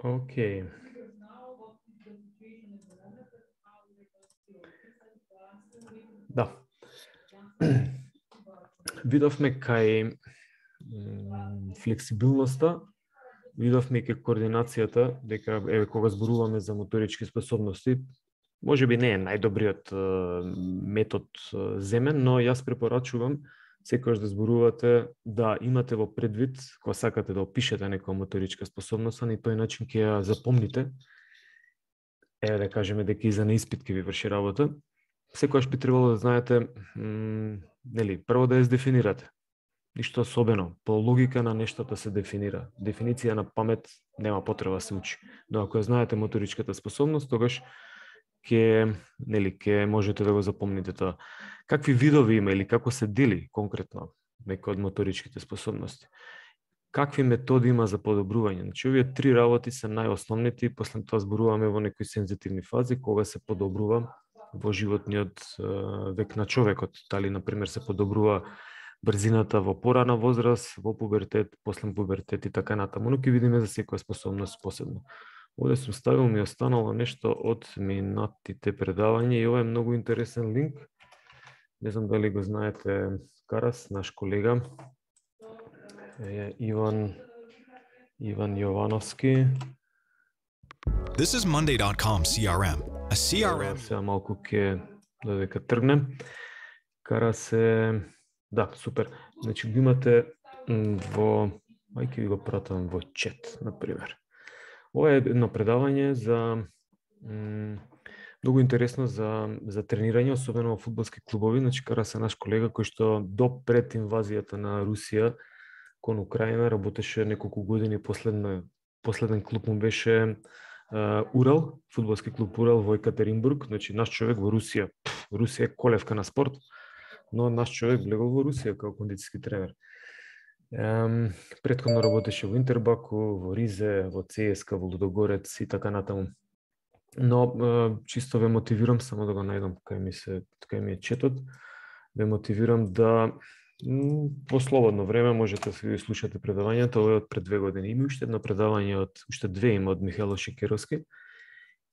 Океј. Да. Видовме кај флексибилноста, видовме кај координацијата, дека еве кога зборуваме за моторички способности, можеби не е најдобриот метод земен, но јас препорачувам секогаш да зборувате, да имате во предвид, кога сакате да опишете некоја моторичка способност, на тој начин ќе ја запомните. Еве да кажеме дека и за на испит ќе ви врши работа. Секогаш би требало да знаете, нели, прво да ја дефинирате. Ништо особено, по логика на нештата се дефинира. Дефиниција на памет нема потреба да се учи. Но ако ја знаете моторичката способност, тогаш ќе можете да го запомните тоа. Какви видови има или како се дели конкретно некој од моторичките способности? Какви методи има за подобрување? Значи, овие три работи се најосновните и после тоа зборуваме во некои сензитивни фази кога се подобрува во животниот век на човекот. Дали, например, се подобрува брзината во порана возраст, во пубертет, после пубертет и така натаму, но ќе видиме за секоја способност посебно. Овде сум ставил, ми останало нешто од минатите предавања и ова е многу интересен линк. Не знам дали го знаете Карас, наш колега, Иван Јовановски. This is Monday.com CRM. A CRM. Сега малку ќе додека тргнем. Карас е... Да, супер. Значи го имате во... Ајде ви го пратам во чет, например. Ова е едно предавање за многу интересно за тренирање, особено во фудбалски клубови. Значи Карас е наш колега кој што до пред инвазијата на Русија кон Украина работеше неколку години, последен клуб му беше Урал, фудбалски клуб Урал во Екатеринбург. Значи наш човек во Русија. Русија е колевка на спорт, но наш човек влегол во Русија како кондицијски тренер. Претходно работеше во Интербаку, во Ризе, во ЦСКА, во Лудогорец и така натаму. Но чисто ве мотивирам, само да го најдам кај ми е четот, ве мотивирам да во слободно време можете да слушате предавањето. Ова е од пред 2 години. Има уште едно предавање уште две има од Михајло Шекеровски,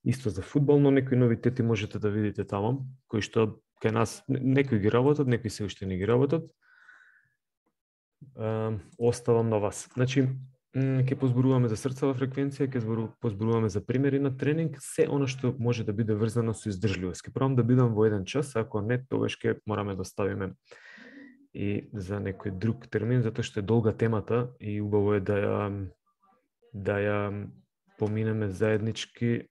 исто за фудбал, но некои новитети можете да видите таму, кои што кај нас некои ги работат, некои се уште не ги работат. Оставам на вас. Значи, ќе позборуваме за срцева фреквенција, ќе позборуваме за примери на тренинг, се она што може да биде врзано со издржливост. Ќе пробам да бидам во 1 час, ако не, тогаш ќе мораме да ставиме и за некој друг термин, затоа што е долга темата и убаво е да ја поминеме заеднички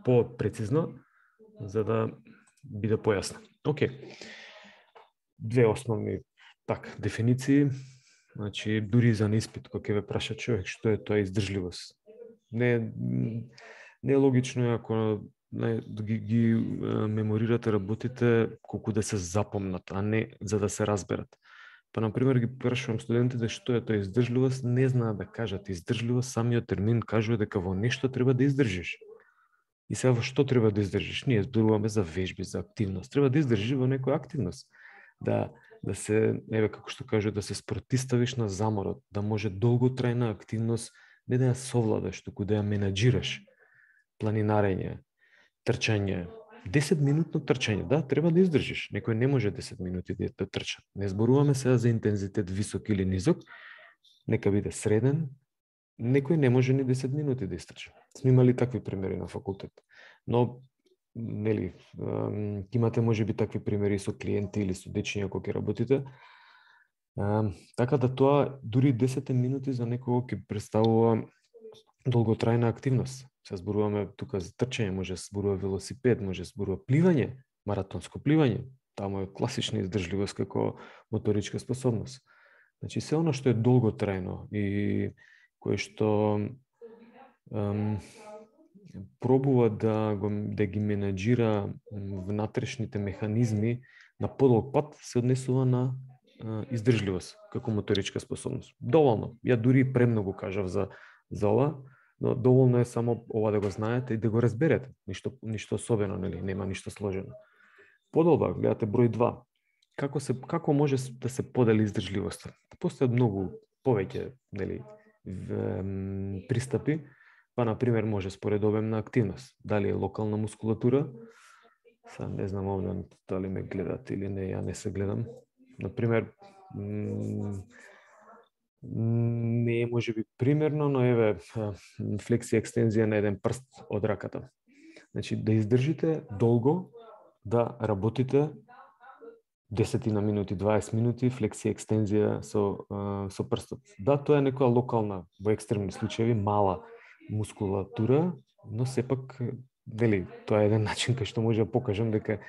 по-прецизно, за да биде појасно. Океј. Две основни дефиниции. Значи, дури за испит, кога ќе ве праша човек што е тоа издржливост. Не е логично ако ги меморирате работите колку да се запомнат, а не за да се разберат. Па, например, ги прашувам студентите што е тоа издржливост, не знаат да кажат издржливост, самиот термин кажува дека во нешто треба да издржиш. И сега во што треба да издржиш? Ние зборуваме за вежби, за активност. Треба да издржиш во некоја активност. Да се, еве како што кажу, да се спротиставиш на заморот, да може долготрајна активност не да ја совладаш, туку да ја менаџираш. Планинарење, трчање, 10-минутно трчање, да, треба да издржиш. Некој не може 10 минути да трча. Не зборуваме сега за интензитет висок или низок, нека биде среден, некој не може ни 10 минути да изтрча. Сме имали такви примери на факултет. Но нели, имате можеби такви примери со клиенти или со дечиња кога ќе работите. Така да тоа дури 10 минути за некого ќе представува долготрајна активност. Се зборуваме тука за трчање, може да се зборува велосипед, може да се зборува пливање, маратонско пливање. Таму е класична издржливост како моторичка способност. Значи се оно што е долготрајно и кое што пробува да ги менаџира внатрешните механизми на подолг пат, се однесува на издржливост како моторичка способност. Доволно. Ја дури премногу кажав за ова, но доволно е само ова да го знаете и да го разберете. Ништо особено, нели, нема ништо сложено. Подолба, гледате број 2. Како може да се подели издржливоста? Постојат многу повеќе, нели, пристапи. Па, например, може според обемна активност. Дали е локална мускулатура, сега не знам овде дали ме гледат или не, ја не се гледам. Например, не е може би примерно, но еве флексија екстензија на еден прст од раката. Значи, да издржите долго, да работите 10 минути, 20 минути, флексија екстензија со прстот. Да, тоа е некоја локална, во екстремни случаи, мала мускулатура, но сепак, вели, тоа е еден начин кај што може да покажам дека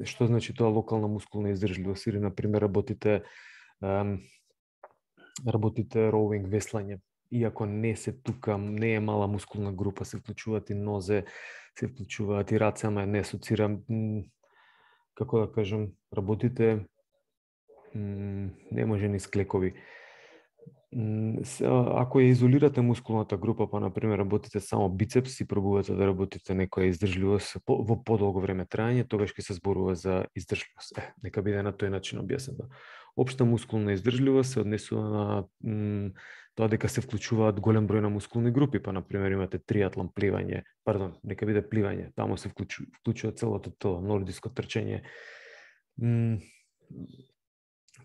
што значи тоа локална мускулна издржливост, или, например, работите роуинг, веслање. Иако не се тука, не е мала мускулна група, се вклучуваат и нозе, се вклучуваат и раце, ама не асоцирам, како да кажам, работите не може ни склекови. Ако ја изолирате мускулната група, па, например, работите само бицепс и пробувате да работите некоја издржливост во подолго време траење, тогаш ќе се зборува за издржливост. Нека биде на тој начин објаснето. Општа мускулна издржливост се однесува на тоа дека се вклучуваат голем број на мускулни групи, па, например, имате триатлон, пливање, нека биде пливање, таму се вклучува целото тело, нордиско трчање.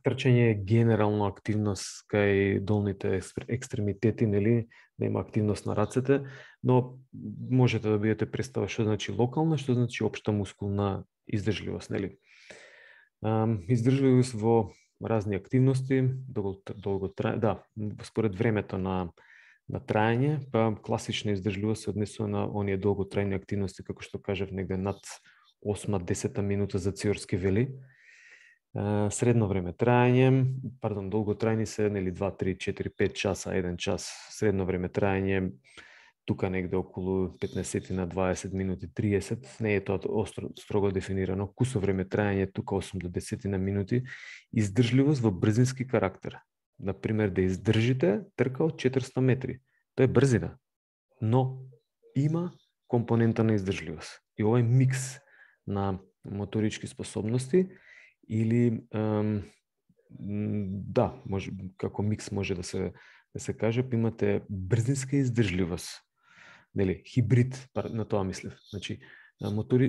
Трчање е генерално активност кај долните екстремитети, нели, нема активност на рацете, но можете да бидете представа што значи локална, што значи општа мускулна издржливост, нели. Издржливост во разни активности, долго траење, да, според времето на траење, па класична издржливост се однесува на оние долготрајни активности, како што кажав, негде над 8-10 минута за циорски вели. Средно време траење, долготрајни се, нели, 2, 3, 4, 5 часа, 1 час. Средно време траење, тука негде околу 15 на 20 минути, 30, не е тоа строго дефинирано. Кусо време траење, тука 8 до 10 на минути. Издржливост во брзински карактер. Например, да издржите трка од 400 метри. Тоа е брзина, но има компонента на издржливост. И овој микс на моторички способности или да, може, како микс може да се каже, имате брзинска издржливост. Нели, хибрид, на тоа мислев. Значи,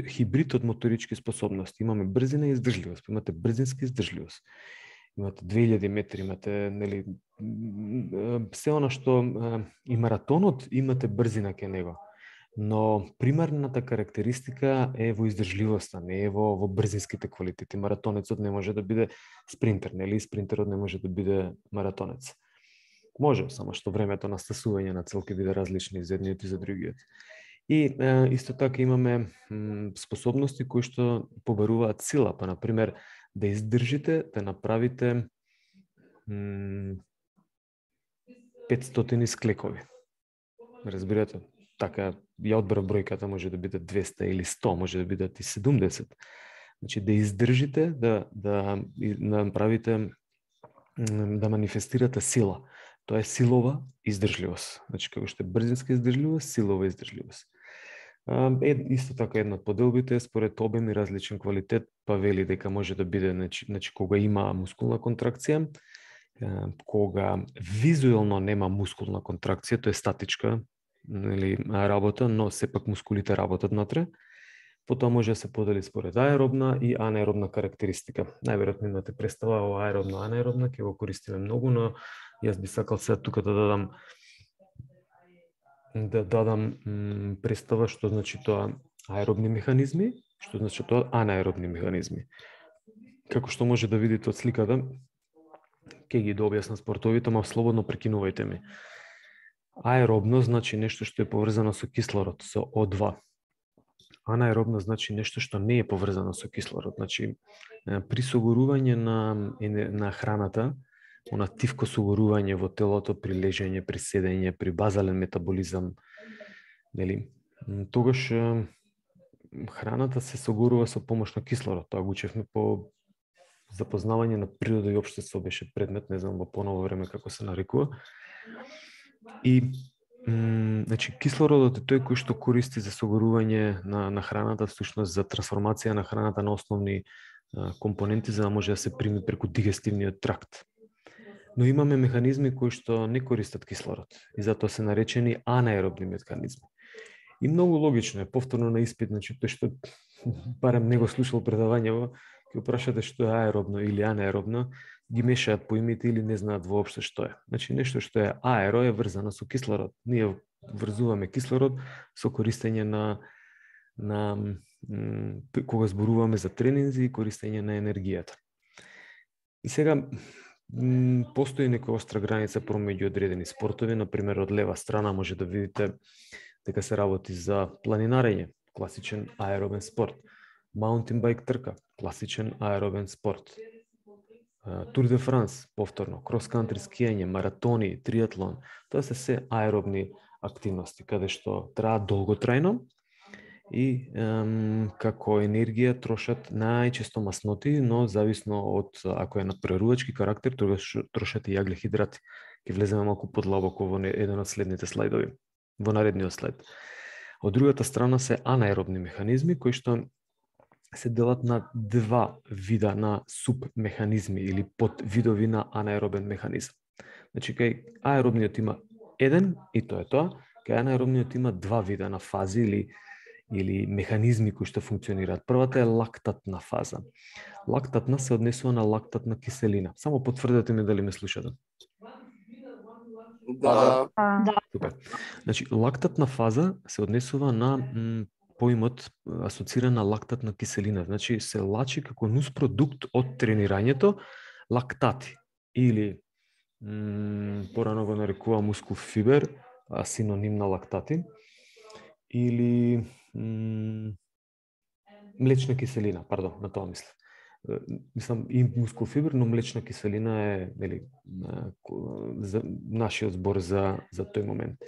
хибрид од моторички способности. Имаме брзина и издржливост, имате брзинска издржливост. Имате 2000 метри, имате, нели, се она што и маратонот имате брзина ке него. Но примарната карактеристика е во издржливоста, не е во брзинските квалитети. Маратонецот не може да биде спринтер, нели? Спринтерот не може да биде маратонец. Може, само што времето на стасување на цел ќе биде различни за едниот и за другиот. И исто така имаме способности кои што побаруваат сила, па например да издржите, да направите 500 склекови. Разбирате? Така, ја одбрав бројката, може да биде 200 или 100, може да бидат и 70. Значи, да издржите, да направите, да манифестирате сила. Тоа е силова издржливост. Значи, како што е брзинска издржливост, силова издржливост. Исто така една од поделбите, според обем и различен квалитет, па вели дека може да биде, значи, кога има мускулна контракција, кога визуелно нема мускулна контракција, тоа е статичка, или работа, но сепак мускулите работат натре. Потоа може да се подели според аеробна и анаеробна карактеристика. Најверојатно имате представа о аеробна, анаеробна, ќе го користиме многу, но јас би сакал сега тука да дадам представа што значи тоа аеробни механизми, што значи тоа анаеробни механизми. Како што може да видите од сликата, ќе ги дообјаснам спортовите, ама слободно прекинувајте ми. Аеробно значи нешто што е поврзано со кислород, со O2. Анаеробно значи нешто што не е поврзано со кислород. Значи, при согорување на храната, она тивко согорување во телото, при лежење, при седење, при базален метаболизам, нели, тогаш храната се согорува со помош на кислород. Тоа го учевме по запознавање на природа и општество, беше предмет, не знам во поново време како се нарекува. И значи, кислородот е тој кој што користи за согорување на храната, всушност за трансформација на храната на основни компоненти, за да може да се прими преку дигестивниот тракт. Но имаме механизми кои што не користат кислород и затоа се наречени анаеробни механизми. И многу логично е, повторно на испит, значи тој што барем не го слушал предавањево, ќе прашате што е аеробно или анаеробно, ги мешаат поимите или не знаат воопшто што е. Значи нешто што е аеро е врзано со кислород. Ние врзуваме кислород со користење на кога зборуваме за тренинзи и користење на енергијата. И сега постои некоја остра граница промеѓу одредени спортови, например од лева страна може да видите дека се работи за планинарење, класичен аеробен спорт, маунтин байк трка, класичен аеробен спорт, Тур де Франс, повторно, крос-кантри скијање, маратони, триатлон, тоа се аеробни активности, каде што траат долготрајно и како енергија трошат најчесто масноти, но зависно од ако е на прерувачки карактер, тогаш трошат и јаглехидрати. Ќе влеземе малку подлабоко во еден од следните слайдови, во наредниот слайд. Од другата страна се анаеробни механизми кои што се делат на два вида на субмеханизми или подвидови на анаеробен механизам. Значи, кај аеробниот има еден и тоа е тоа, кај анаеробниот има два вида на фази или механизми кои што функционираат. Првата е лактатна фаза. Лактатна се однесува на лактатна киселина. Само потврдете ми дали ме слушате. Да. Супер. Значи, лактатна фаза се однесува на поимот асоциран на лактатна киселина. Значи, се лачи како нуспродукт од тренирањето лактати или порано го нарекува мускул фибер, синоним на лактати, или млечна киселина, пардон, на тоа мислам. Мислам и мускул фибер, но млечна киселина е за нашиот збор за тој момент.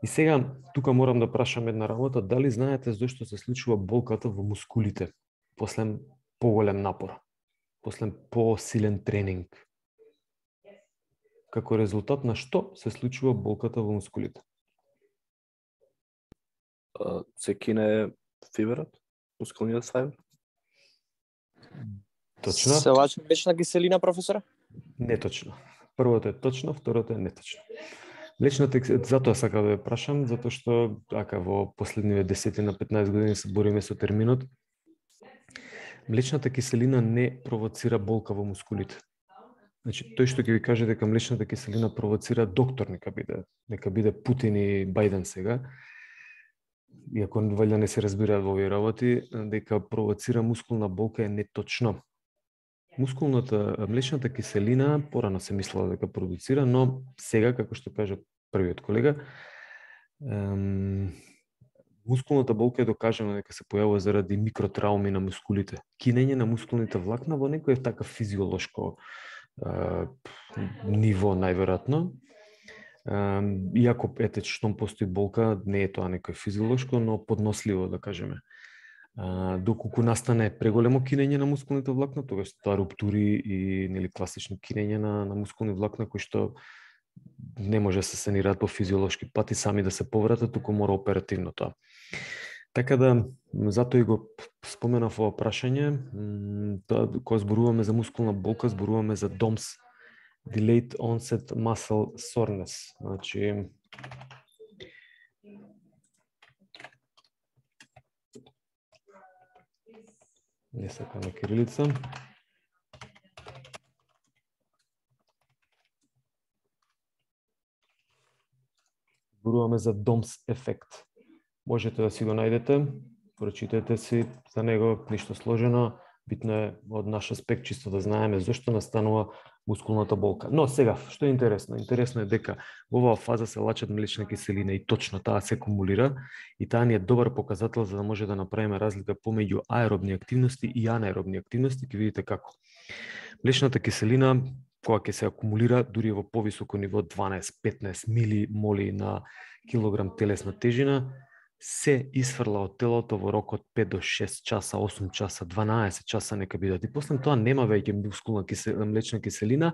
И сега, тука морам да прашам една работа, дали знаете зошто се случува болката во мускулите после поголем напор, после посилен тренинг? Како резултат на што се случува болката во мускулите? Се кине фиберот, мускулниот фибер. Точно. Се лачи млечна киселина, професоре? Неточно. Првото е точно, второто е неточно. Млечната киселина, затоа сакам да ја прашам, затоа што во последниве 10 на 15 години се бориме со терминот. Млечната киселина не провоцира болка во мускулите. Значи, тој што ќе ви каже дека млечната киселина провоцира, доктор нека биде Путин и Бајден сега, иако валја не се разбираат во овие работи, дека провоцира мускулна болка е неточно. Млечната киселина порано се мислела дека продуцира, но сега, како што кажа првиот колега, мускулната болка е докажано дека се појавува заради микротрауми на мускулите. Кинење на мускулните влакна во некој така физиолошко ниво, најверојатно. Иако, штом постои болка, не е тоа некој физиолошко, но подносливо, да кажеме. Доколку настане преголемо кинење на мускулните влакна, тогаш тоа руптури и класично кинење на мускулни влакна кои што не може да се санираат по физиолошки пати сами да се повратат, туку мора оперативно тоа. Така да, затоа и го споменав ова прашање, кога зборуваме за мускулна болка, зборуваме за DOMS, Delayed Onset Muscle Soreness. Значи, не сакам на кирилица. Зборуваме за DOMS ефект. Можете да си го најдете, прочитате си за него, ништо сложено. Битно е од наш аспект чисто да знаеме зошто настанува мускулната болка. Но сега, што е интересно? Интересно е дека во оваа фаза се лачат млечна киселина и точно таа се акумулира и таа ни е добар показател за да може да направиме разлика помеѓу аеробни активности и анаеробни активности. Ќе видите како. Млечната киселина, кога ќе се акумулира, дури во повисоко ниво 12-15 милимоли на килограм телесна тежина, се исфрла од телото во рок од 5 до 6 часа, 8 часа, 12 часа нека бидат. И после тоа нема веќе млечна киселина,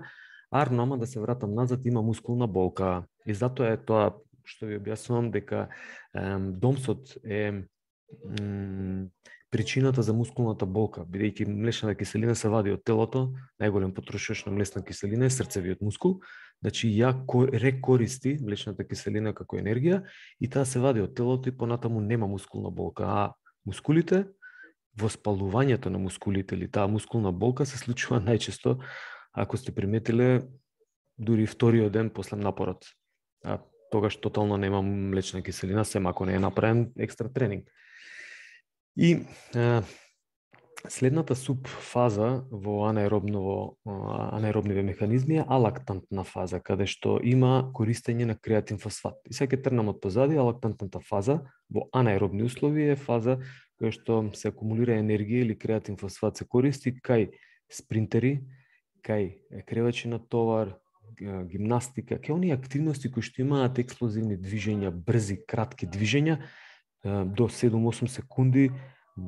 ама да се вратам назад, има мускулна болка. И затоа е тоа што ви објаснувам дека DOMS-от е причината за мускулната болка, бидејќи млечната киселина се вади од телото, најголем потрошувач на млечна киселина е срцевиот мускул, значи ја рекористи млечната киселина како енергија и таа се вади од телото и понатаму нема мускулна болка, а мускулите, воспалувањето на мускулите или таа мускулна болка се случува најчесто, ако сте приметиле, дури вториот ден после напорот. А тогаш тотално нема млечна киселина, сем ако не е направен екстра тренинг. И следната субфаза во анаеробниве механизми е алактантна фаза, каде што има користење на креатин фосфат. И сега ќе тргнам од позади, алактантната фаза во анаеробни услови е фаза која што се акумулира енергија или креатин фосфат се користи кај спринтери, кај кревачи на товар, гимнастика, кај оние активности кои што имаат експлозивни движења, брзи, кратки движења, до 7-8 секунди,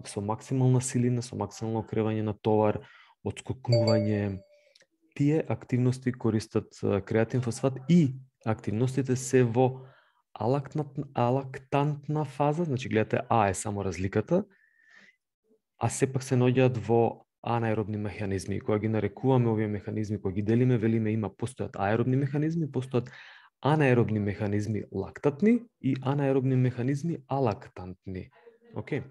со максимална силина, со максимално кревање на товар, отскокнување. Тие активности користат креатин фосфат и активностите се во алактантна фаза, значи гледате А е само разликата, а сепак се наоѓаат во анаеробни механизми. Кога ги нарекуваме овие механизми, кога ги делиме, велиме постојат аеробни механизми, постојат анаеробни механизми лактатни и анаеробни механизми алактантни. Океј.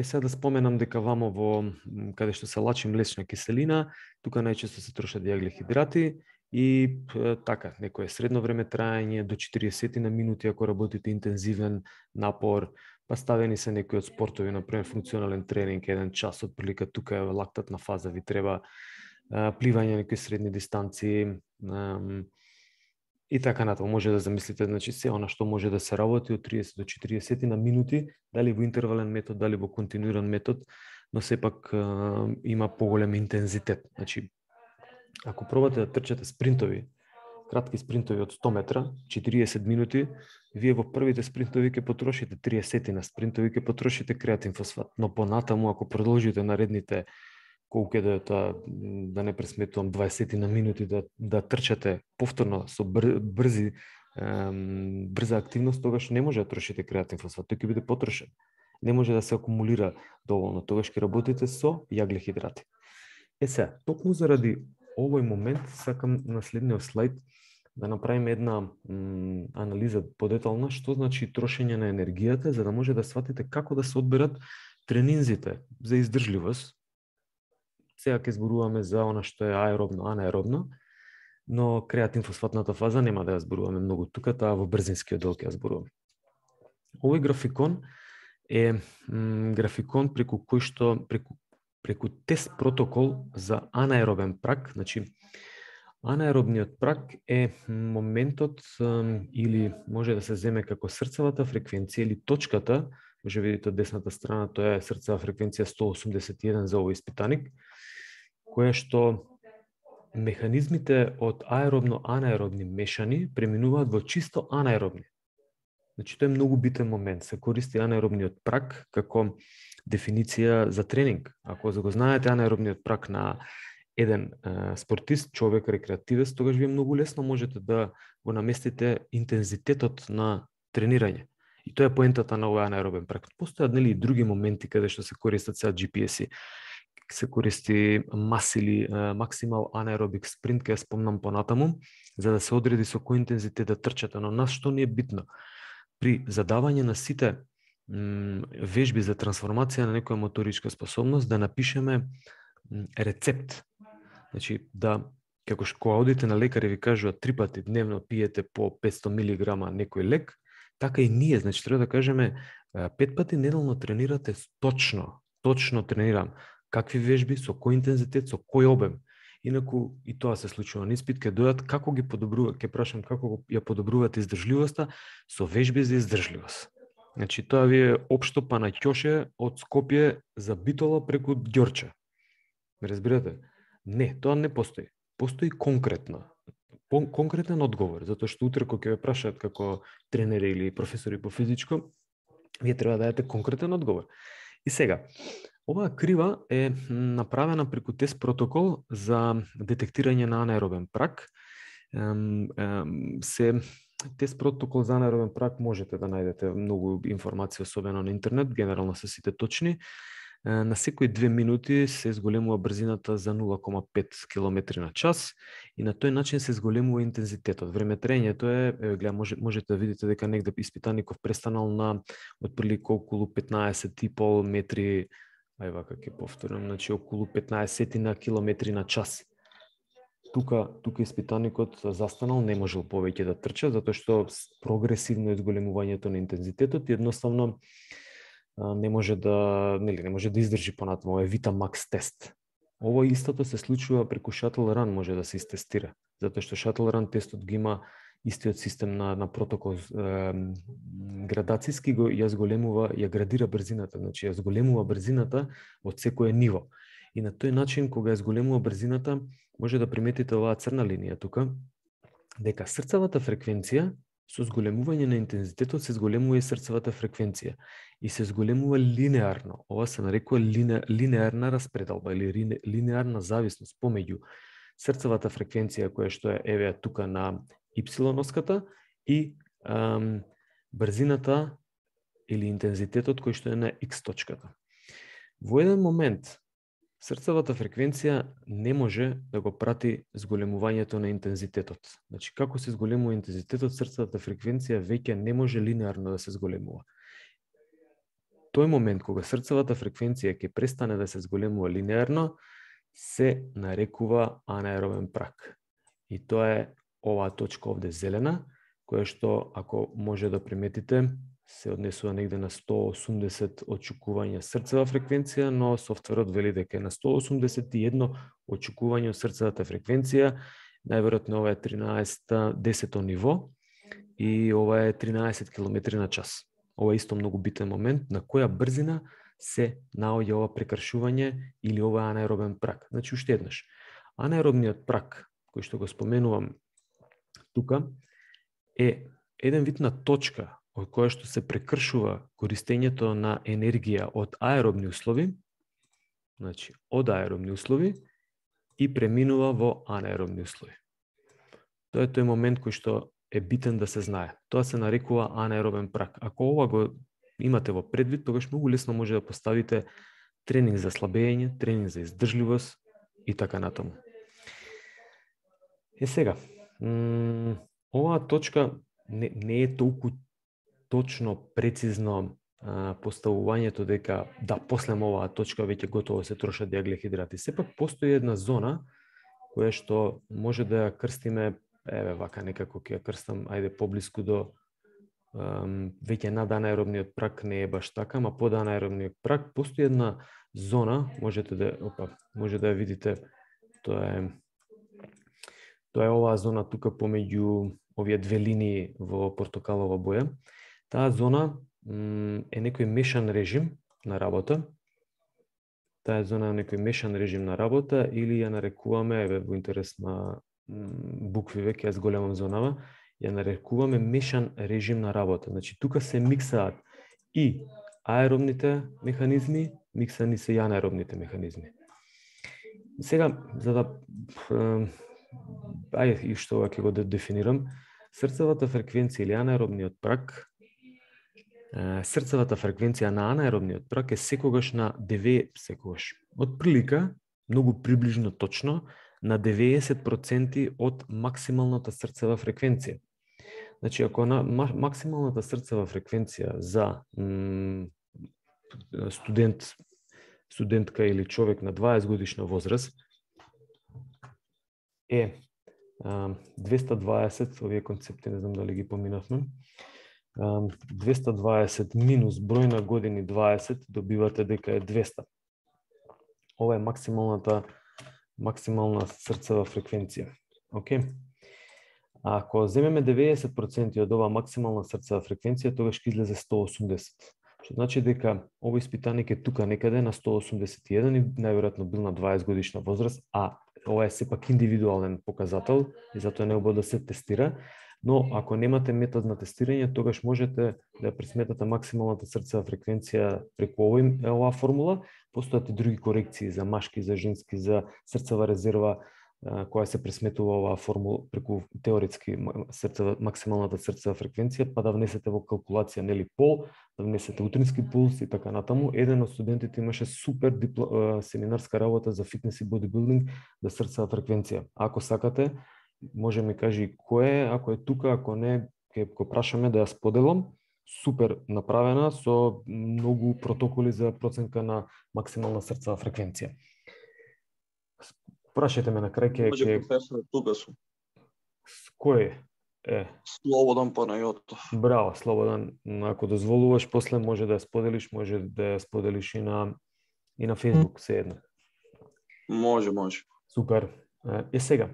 Сега да споменам дека вамо во каде што се лачи млечна киселина, тука најчесто се трошат јаглехидрати и така, некое средно време траење до 40 на минути ако работите интензивен напор, па ставени се некои од спортови, например функционален тренинг, 1 час од прилика, тука е лактатна фаза, ви треба пливање некои средни дистанции, и така натаму. Може да замислите, значи се она што може да се работи од 30 до 40 на минути, дали во интервален метод, дали во континуиран метод, но сепак има поголем интензитет. Значи, ако пробате да трчате спринтови, кратки спринтови од 100 метра, 40 минути, вие во првите спринтови ќе потрошите 30 на спринтови, ќе потрошите креатин фосфат, но понатаму ако продолжите наредните колку е да не пресметувам 20 на минути да трчате повторно со брза активност, тогаш не може да трошите креатин фосфат, тој ќе биде потрошен. Не може да се акумулира доволно, тогаш ќе работите со јаглехидрати. Сега, токму заради овој момент сакам на следниот слайд да направиме една анализа подетална што значи трошење на енергијата, за да може да сватите како да се одберат тренинзите за издржливост. Сега ќе зборуваме за она што е аеробно, анаеробно, но креатин фосфатната фаза нема да ја зборуваме многу тука, таа во брзинскиот дел ќе ја зборуваме. Овој графикон е графикон преку кој што преку тест протокол за анаеробен праг, значи анаеробниот праг е моментот или може да се земе како срцевата фреквенција или точката, може видите од десната страна, тоа е срцева фреквенција 181 за овој испитаник, која што механизмите од аеробно-анаеробни мешани преминуваат во чисто анаеробни. Значи, тоа е многу битен момент. Се користи анаеробниот праг како дефиниција за тренинг. Ако го знаете анаеробниот праг на еден спортист, човек, рекреативец, тогаш вие многу лесно можете да го наместите интензитетот на тренирање. И тоа е поентата на овој анаеробен праг. Постојат и други моменти каде што се користат сега GPS-и. Се користи мас или максимал анаеробик спринт, ке спомнам понатаму, за да се одреди со кој интензитет да трчате. Но нас што ни е битно? При задавање на сите вежби за трансформација на некоја моторичка способност, да напишеме рецепт. Значи, како кога одите на лекар и ви кажува 3 пати дневно пиете по 500 мг некој лек, така и ние, значи треба да кажеме 5 пати неделно тренирате точно тренирам. Какви вежби, со кој интензитет, со кој обем. Инаку и тоа се случува на испит, ќе дојдат како ги подобруваат, ќе прашам како ја подобруваат издржливоста со вежби за издржливост. Значи тоа ви е општо па на ќоше од Скопје за Битола преку Ѓорче. Ме разбирате? Не, тоа не постои. Постои конкретно. Конкретен одговор, затоа што утре кога ќе ве прашаат како тренери или професори по физичко, вие треба да дадете конкретен одговор. И сега, оваа крива е направена преку тест протокол за детектирање на анаеробен праг. Тест протокол за анаеробен праг можете да најдете многу информација, особено на интернет, генерално се сите точни. На секои 2 минути се зголемува брзината за 0,5 км на час и на тој начин се зголемува интензитетот. Времетрењето е, можете да видите дека негде испитаников престанал на отприлика околу 15,5 метри, вака ќе повторам, значи околу 15 на километри на час. Тука испитаникот застанал, не можел повеќе да трча, затоа што прогресивно е зголемувањето на интензитетот и едноставно не може да издржи понатаму, е Vita Max тест. Ово истото се случува преку Shuttle Run, може да се истестира, затоа што Shuttle Run тестот ги има истиот систем на протокол градацијски, ја зголемува, ја градира брзината, значи ја зголемува брзината од секое ниво. И на тој начин, кога ја зголемува брзината, може да приметите оваа црна линија тука, дека срцевата фреквенција со зголемување на интензитетот се зголемува и срцевата фреквенција и се зголемува линеарно. Ова се нарекува линеарна распределба или линеарна зависност помеѓу срцевата фреквенција која што е еве тука на Y-оската и брзината или интензитетот кој што е на X точката. Во еден момент срцевата фреквенција не може да го прати зголемувањето на интензитетот. Значи, како се зголемува интензитетот, срцевата фреквенција веќе не може линеарно да се зголемува. Тој момент кога срцевата фреквенција ќе престане да се зголемува линеарно, се нарекува анаеробен праг. И тоа е оваа точка овде зелена, која што, ако може да приметите, се однесува негде на 180 очекувања срцева фреквенција, но софтверот вели дека е на 181 очекување од срцевата фреквенција. Најверојатно ова е 10-то ниво и ова е 13 км на час. Ова е исто многу битен момент на која брзина се наоѓа ова прекршување или ова анаеробен праг. Значи, уште еднаш, анаеробниот праг, кој што го споменувам тука, е еден вид на точка од која што се прекршува користењето на енергија од аеробни услови, значи од аеробни услови и преминува во анаеробни услови. Тоа е тој момент кој што е битен да се знае. Тоа се нарекува анаеробен праг. Ако ова го имате во предвид, тогаш многу лесно може да поставите тренинг за слабење, тренинг за издржливост и така натаму. Сега, оваа точка не е толку точно, прецизно поставувањето дека после оваа точка веќе готово се трошат диаглехидрати. Сепак постои една зона која што може да ја крстиме, еве вака некако ќе ја крстам, ајде поблиску до веќе над анаеробниот праг, не е баш така, ама под анаеробниот праг постои една зона, може да ја видите, тоа е оваа зона тука помеѓу овие две линии во портокалова боја. Таа зона е некој мешан режим на работа. Таа зона е некој мешан режим на работа или ја нарекуваме, еве во интерес на букви веќе ја зголемам зонава, ја нарекуваме мешан режим на работа. Значи тука се миксаат и аеробните механизми, миксани се и анаеробните механизми. Сега, за да и што ќе го дефинирам, срцевата фреквенција или анаеробниот праг, срцевата фреквенција на анаеробниот праг е секогаш на 9, отприлика, многу приближно точно, на 90% од максималната срцева фреквенција. Значи, ако на максималната срцева фреквенција за студентка или човек на 20 годишна возраст е 220, овие концепти не знам дали ги поминавме, 220 минус број на години 20, добивате дека е 200. Ова е максимална срцева фреквенција. Океј? Ако земеме 90% од оваа максимална срцева фреквенција, тогаш ќе излезе 180. Што значи дека овој испитаник е тука некаде на 181 и најверојатно бил на 20 годишна возраст, а ова е сепак индивидуален показател и затоа не обода да се тестира, но ако немате метод на тестирање, тогаш можете да пресметате максималната срцева фреквенција преку оваа формула. Постојат и други корекции за машки, за женски, за срцева резерва, која се пресметува оваа формула преку теоретски максималната срцева фреквенција, па да внесете во калкулација нели пол, да внесете утрински пулс и така натаму. Еден од студентите имаше супер семинарска работа за фитнес и бодибилдинг за срцева фреквенција. Ако сакате, може ми кажи кој е, ако е тука, ако не, ќе го прашаме да ја споделам. Супер направена со многу протоколи за проценка на максимална срцева фреквенција. Прашајте ме на крај ќе Може професор, тука сум. Кој е? Слободан Панајотов. Браво, Слободан. Ако дозволуваш, после може да ја споделиш, може да ја споделиш и на Facebook, се едно. Може. Супер. Сега,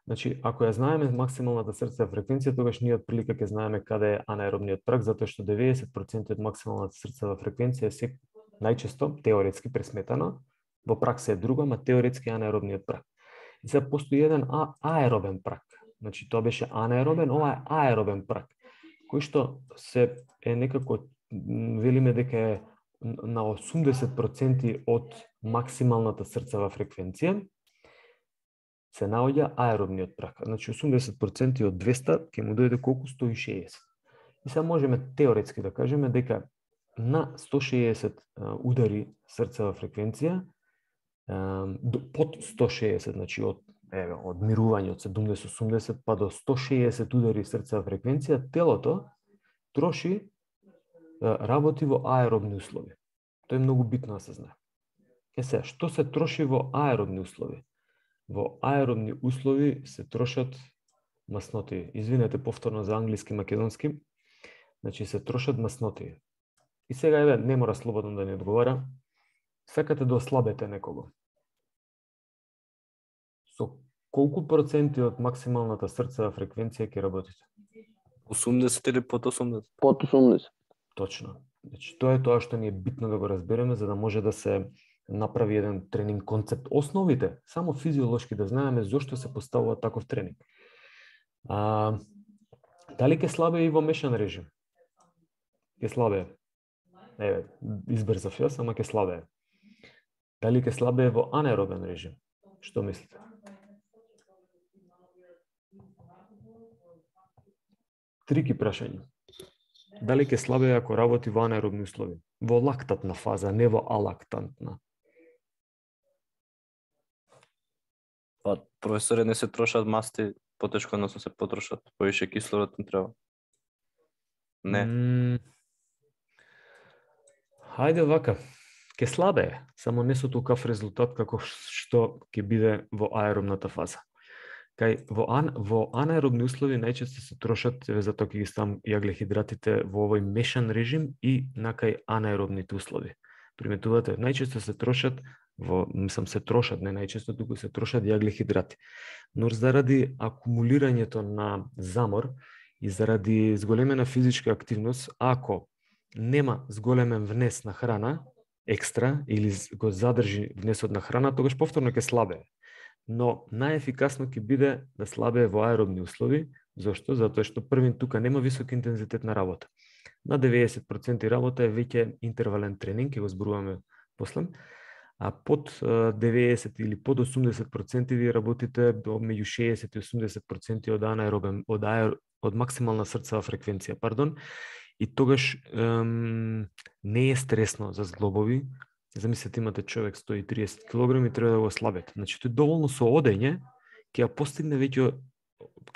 значи, ако ја знаеме максималната срцева фреквенција, тогаш ние отприлика ќе знаеме каде е анаеробниот праг, затоа што 90% од максималната срцева фреквенција е најчесто теоретски пресметана, во пракса е друга, ама теоретски анаеробниот праг. И сега постои еден аеробен праг. Значи, тоа беше анаеробен, ова е аеробен праг, кој што се е некако, велиме дека е на 80% од максималната срцева фреквенција, се наоѓа аеробниот праг. Значи 80% од 200 ќе му дојде колку? 160. И сега можеме теоретски да кажеме дека на 160 удари срцева фреквенција, под 160, значи од мирување од 70-80 па до 160 удари срцева фреквенција, телото работи во аеробни услови. Тоа е многу битно да се знае. Сега, што се троши во аеробни услови? Во аеробни услови се трошат масноти. Извинете повторно за англиски, македонски. Значи се трошат масноти. И сега не мора слободно да ни одговара. Сакате да ослабете некого. Со колку проценти од максималната срцева фреквенција ќе работите? 80 или под 80? Под 80. Точно. Значи, тоа е тоа што ни е битно да го разбереме, за да може да се направи еден тренинг концепт. Основите, само физиолошки да знаеме зошто се поставува таков тренинг. Дали ќе слабее и во мешан режим? Ќе слабее. Избрзав јас, ама ќе слабее. Дали ќе слабее во анаеробен режим? Што мислите? Трики прашање. Дали ќе слабее ако работи во анаеробни услови? Во лактатна фаза, не во алактантна. Па, професоре, не се трошат масти потешко, односно се потрошат. Повише кислород не треба. Не. Хајде вака. Ќе слабее, само не со толкав резултат како што ќе биде во аеробната фаза. Во анаеробни услови најчесто се трошат, затоа ќе ги ставам јаглехидратите во овој мешан режим и на кај анаеробните услови. Приметувате, најчесто се трошат се трошат, не најчесто, туку се трошат јаглехидрати. Но заради акумулирањето на замор и заради зголемена физичка активност, ако нема зголемен внес на храна, екстра, или го задржи внесот на храна, тогаш повторно ќе слабее. Но најефикасно ќе биде да слабее во аеробни услови. Зошто? Затоа што првин тука нема висок интензитет на работа. На 90% работа е веќе интервален тренинг, ќе го зборуваме после. А под 90 или под 80% ви работите меѓу 60 и 80% од анаеробен, од максимална срцева фреквенција, и тогаш не е стресно за зглобови. Замислете, имате човек 130 кг и треба да го слабете. Значи, тој доволно со одење ќе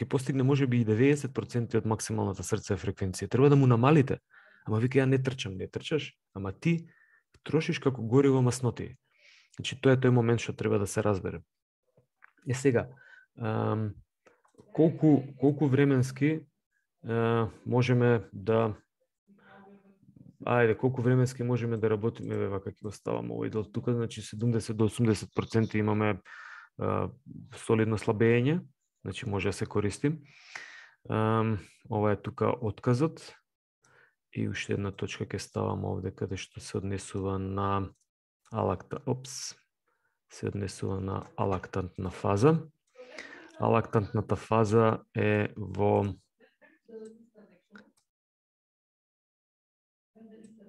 постигне можеби и 90% од максималната срцева фреквенција. Треба да му намалите. Ама вика, ја не трчам, не трчаш, ама ти трошиш како гориво масноти. Значи, тоа е тој момент што треба да се разбере. И сега, колку временски можеме да колку временски можеме да работиме, вака ќе го ставам овој дел тука, значи 70 до 80% имаме солидно слабење, значи може да се користи. Ова е тука отказот. И уште една точка ќе ставам овде каде што се однесува на алактантна фаза. Алактантната фаза е во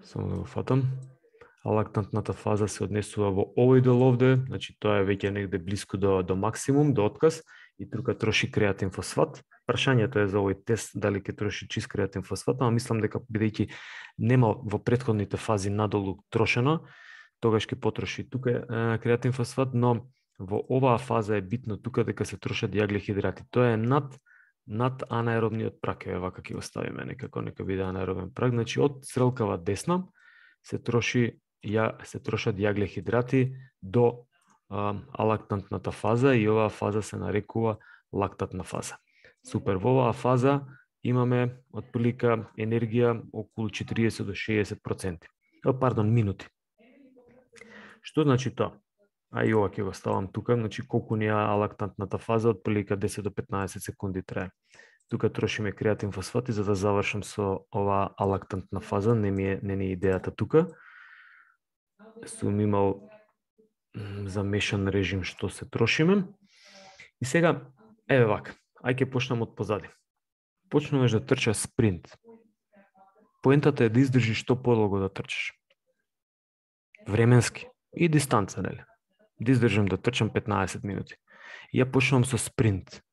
само да го фатам. а лактантната фаза се однесува во овој дел овде, значи тоа е веќе негде блиску до максимум, до отказ, и тука троши креатин фосфат. Прашањето е за овој тест дали ќе троши чист креатин фосфат, ама мислам дека бидејќи нема во претходните фази надолу трошено, тогаш ќе потроши тука креатин фосфат, но во оваа фаза е битно тука дека се трошат јаглехидрати. Тоа е над анаеробниот праг, е вака ќе го ставиме некако, нека биде анаеробен праг. Значи од стрелкава десна се трошат јаглехидрати до алактантната фаза и оваа фаза се нарекува лактатна фаза. Супер, во оваа фаза имаме отприлика енергија околу 40 до 60%. Минути. Што значи тоа? А и ова ќе го ставам тука, значи колку ни е алактантната фаза, отприлика 10 до 15 секунди трае. Тука трошиме креатин фосфати за да завршам со оваа алактантна фаза, не ни е идејата тука. Сум имал замешан режим што се трошиме. И сега, еве вака, ај ќе почнам од позади. Почнуваш да трчаш спринт. Поентата е да издржиш што подолго да трчаш. Временски и дистанца, нели? Да издржам да трчам 15 минути. И ја почнувам со спринт.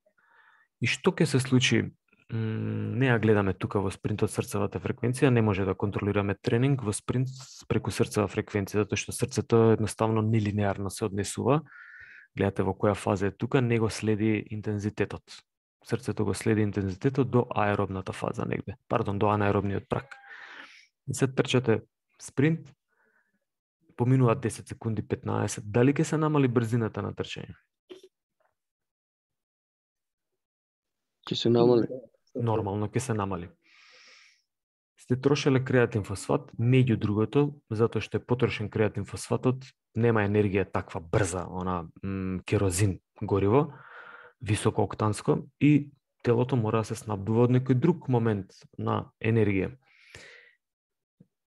И што ќе се случи? Не ја гледаме тука во спринтот срцевата фреквенција, не може да контролираме тренинг во спринт преку срцева фреквенција, затоа што срцето едноставно нелинеарно се однесува. Гледате во која фаза е тука, не го следи интензитетот. Срцето го следи интензитетот до аеробната фаза негде, до анаеробниот праг. И се трчате спринт, поминуваат 10 секунди, 15, дали ќе се намали брзината на трчање? Ќе се намали. Нормално ќе се намали. Сте трошеле креатин фосфат, меѓу другото, затоа што е потрошен креатин фосфатот, нема енергија таква брза, керозин гориво, високооктанско, и телото мора да се снабдува од некој друг момент на енергија.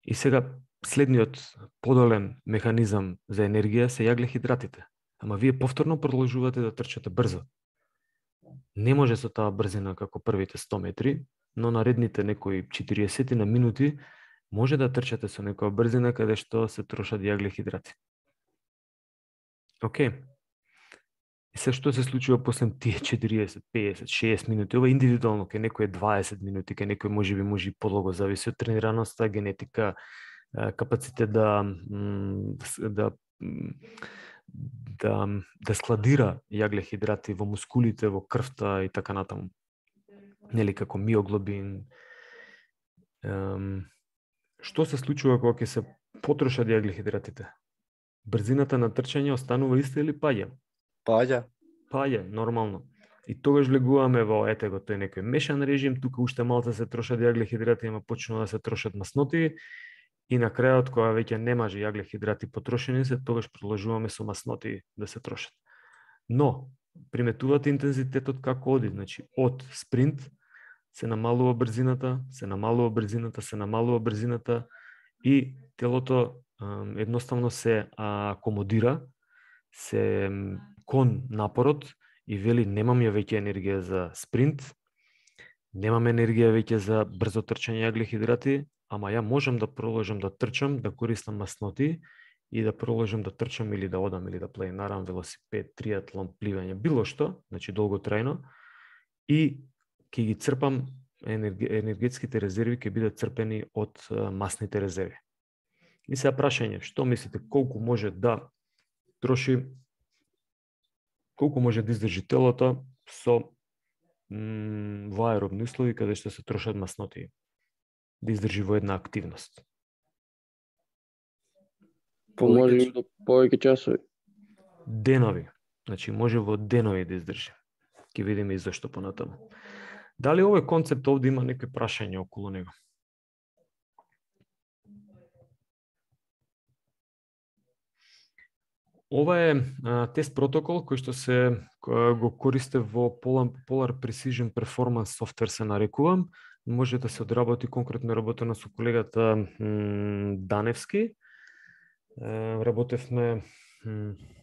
И сега, следниот подолен механизам за енергија се јаглехидратите. Ама вие повторно продолжувате да трчате брзо. Не може со таа брзина како првите 100 метри, но наредните некои 40 на минути може да трчате со некоја брзина каде што се трошат јаглехидрати. Океј. И се што се случува после тие 40, 50, 60 минути? Ова индивидуално, кај некој е 20 минути, кај некој може и подолго, зависи од тренираноста, генетика, капацитет да складира јаглехидрати во мускулите, во крвта и така натаму. Нели, како миоглобин. Што се случува кога ќе се потрошат јаглехидратите? Брзината на трчање останува иста или паѓа? Паѓа, нормално. И тогаш влегуваме во тој некој мешан режим, тука уште малце се трошат јаглехидрати, ама почнува да се трошат масноти, и на крајот, кога веќе немаше јаглехидрати потрошени се, тогаш продолжуваме со масноти да се трошат. Но, приметувате интензитетот како оди, значи од спринт се намалува брзината, се намалува брзината и телото едноставно се акомодира, се кон напорот и вели немам ја веќе енергија за спринт, немам енергија веќе за брзо трчање јаглехидрати, ама ја можам да продолжам да трчам, да користам масноти и да продолжам да трчам или да одам или да планинарам, велосипед, триатлон, пливање, било што, значи долготрајно, и ќе ги црпам енергетските резерви, ќе бидат црпени од масните резерви. И сега прашање, што мислите, колку може да троши, колку може да издржи телото со во аеробни услови каде што се трошат масноти, да издржи во една активност? Може до повеќе часови. Денови. Значи може во денови да издржи. Ќе видиме и зашто понатаму. Дали овој концепт овде има некои прашања околу него? Ова е тест протокол кој што се го користи во Polar Precision Performance Software се нарекува. Може да се одработи конкретно работено со колегата Даневски. Работевме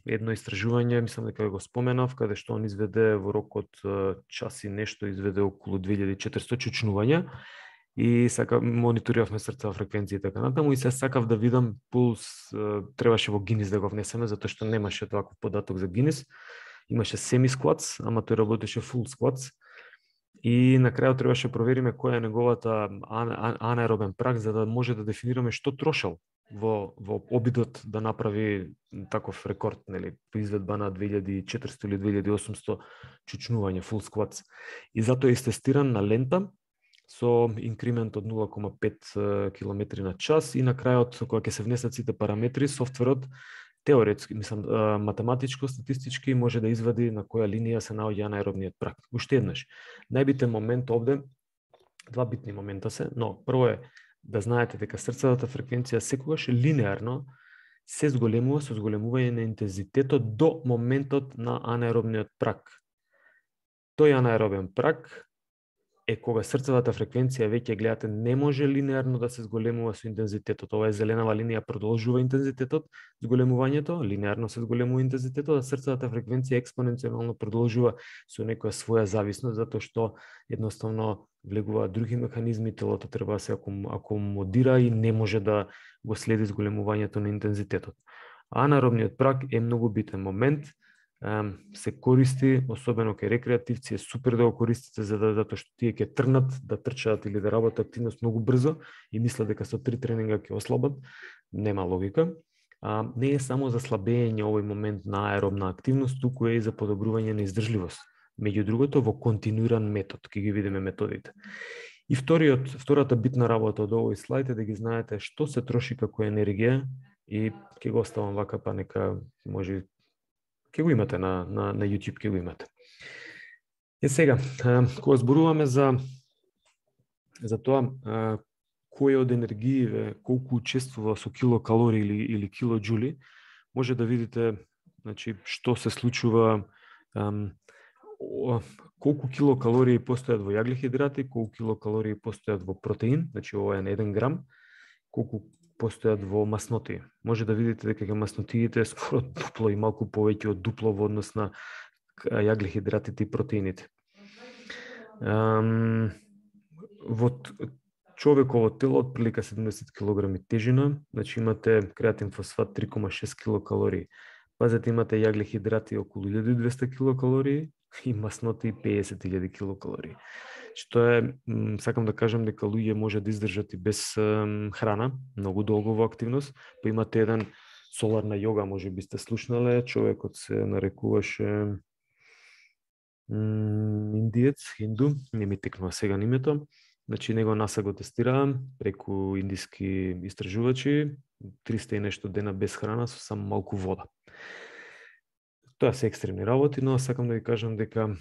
едно истражување, мислам дека го споменав, каде што он изведе во рок од час и нешто, изведе околу 2400 чучнувања и мониториравме срцева фреквенција и така натаму и се сакав да видам пулс, требаше во Гинис да го внесеме затоа што немаше таков податок за Гинис. Имаше semi squats, ама тој работеше full squats. И на крајот требаше провериме која е неговата анаеробен праг за да може да дефинираме што трошел во обидот да направи таков рекорд, нели, по изведба на 2400 или 2800 чучнување full squats. И затоа е истестиран на лента со инкремент од 0,5 км на час и на крајот кога ќе се внесат сите параметри, софтверот теоретски, математичко, статистички може да извади на која линија се наоѓа анаеробниот праг. Уште еднаш, најбитен момент овде, два битни момента се, но прво е да знаете дека срцевата фреквенција секогаш линеарно се зголемува со зголемување на интензитетот до моментот на анаеробниот праг. Тој анаеробен праг е кога срцевата фреквенција веќе гледате не може линеарно да се зголемува со интензитетот. Ова е зеленава линија продолжува интензитетот, зголемувањето, линеарно се зголемува интензитетот, а срцевата фреквенција експоненцијално продолжува со некоја своја зависност затоа што едноставно влегуваат други механизми, телото треба да се акомодира и не може да го следи зголемувањето на интензитетот. Анаеробниот праг е многу битен момент. Се користи, особено кај рекреативци, е супер да го користите затоа што тие ќе тргнат да трчаат или да работат активност многу брзо и мислат дека со 3 тренинга ќе ослабат. Нема логика. Не е само за слабење овој момент на аеробна активност, туку е и за подобрување на издржливост. Меѓу другото во континуиран метод, ќе ги видиме методите. И втората битна работа од овој слайд е да ги знаете што се троши како енергија и ќе го оставам вака па нека може ќе го имате на YouTube, ќе го имате. Е сега, кога зборуваме за тоа кој од енергиите колку учествува со килокалории или килоџули, може да видите, значи, што се случува, колку килокалории постојат во јаглехидрати, колку килокалории постојат во протеин, значи ова е на 1 грам, колку постојат во масноти. Може да видите дека маснотиите скоро дупло и малку повеќе од дупло во однос на јаглехидратите и протеините. Во човеково тело од прилика 70 кг тежина, значи имате креатин фосфат 3,6 килокалории. Пазете, имате јаглехидрати околу 1200 килокалории и масноти 50.000 килокалории. Што е, сакам да кажам дека луѓе може да издржат и без храна, многу долго во активност, па имате еден соларна јога, може би сте слушнале, човекот се нарекуваше индиец, хинду, не ми текнува сега името. Значи, него НАСА го тестираа преку индиски истражувачи, 300 и нешто дена без храна со само малку вода. Тоа се екстремни работи, но сакам да ви кажам дека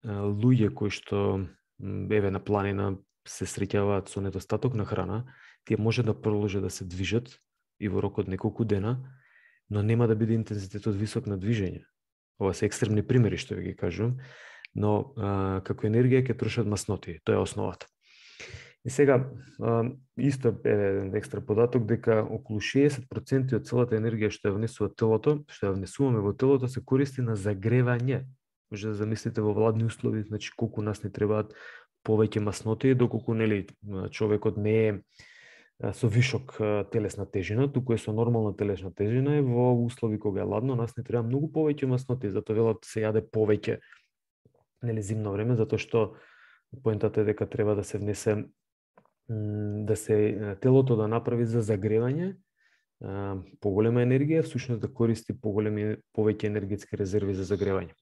луѓе кои што еве на планина се среќаваат со недостаток на храна, тие може да продолжат да се движат и во рок од неколку дена, но нема да биде интензитетот висок на движење. Ова се екстремни примери што ви ги кажувам, но како енергија ќе трошат масноти, тоа е основата. И сега, исто е еден екстра податок дека околу 60% од целата енергија што ја внесува телото, што ја внесуваме во телото, се користи на загревање. Може да замислите во владни услови, значи колку нас не требаат повеќе масноти, доколку нели човекот не е со вишок телесна тежина, туку е со нормална телесна тежина и во услови кога е ладно, нас не треба многу повеќе масноти, затоа велат се јаде повеќе нели зимно време, затоа што поентата е дека треба да се внесе да се телото да направи за загревање поголема енергија, всушност да користи повеќе енергетски резерви за загревање.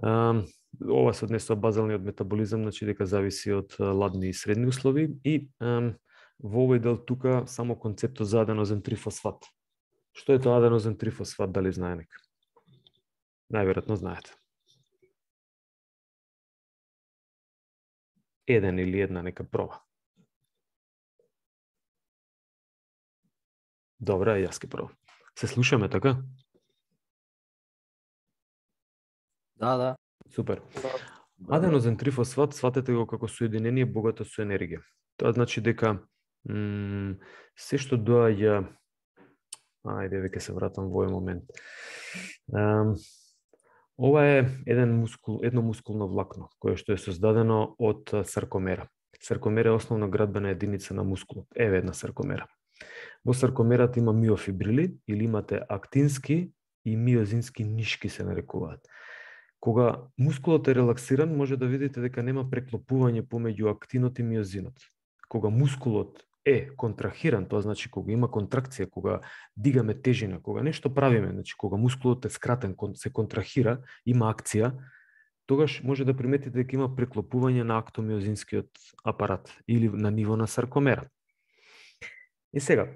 Ова се однесува базалниот метаболизам, значи дека зависи од ладни и средни услови и во овој дел тука само концептот за аденозин трифосфат. Што е тоа аденозин трифосфат, дали знае нека? Најверојатно знаете. Еден или една нека проба. Добра, јас ке пробам. Се слушаме така? Да. Супер. Аденозин трифосфат сватете го како соединение богато со енергија. Тоа значи дека се што доаѓа, ајде веќе се вратам во овој момент. Ова е едно мускулно влакно, кое што е создадено од саркомера. Саркомера е основна градбена единица на мускулот. Еве една саркомера. Во саркомерата има миофибрили, или имате актински и миозински нишки се нарекуваат. Кога мускулот е релаксиран, може да видите дека нема преклопување помеѓу актинот и миозинот. Кога мускулот е контрахиран, тоа значи кога има контракција, кога дигаме тежина, кога нешто правиме, значи кога мускулот е скратен, се контрахира, има акција, тогаш може да приметите дека има преклопување на актомиозинскиот апарат или на ниво на саркомера. И сега,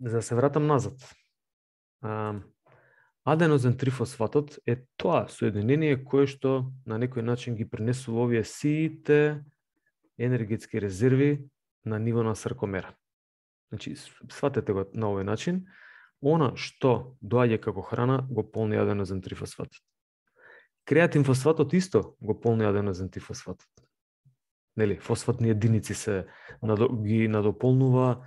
за да се вратам назад, аденозен трифосфатот е тоа соединение кое што на некој начин ги пренесува овие сите енергетски резерви на ниво на саркомера. Значи, сватете го на овој начин, она што доаѓа како храна го полни аденозен трифосфатот. Креатин фосфатот исто го полни аденозен трифосфатот. Нели, фосфатни единици ги надополнува,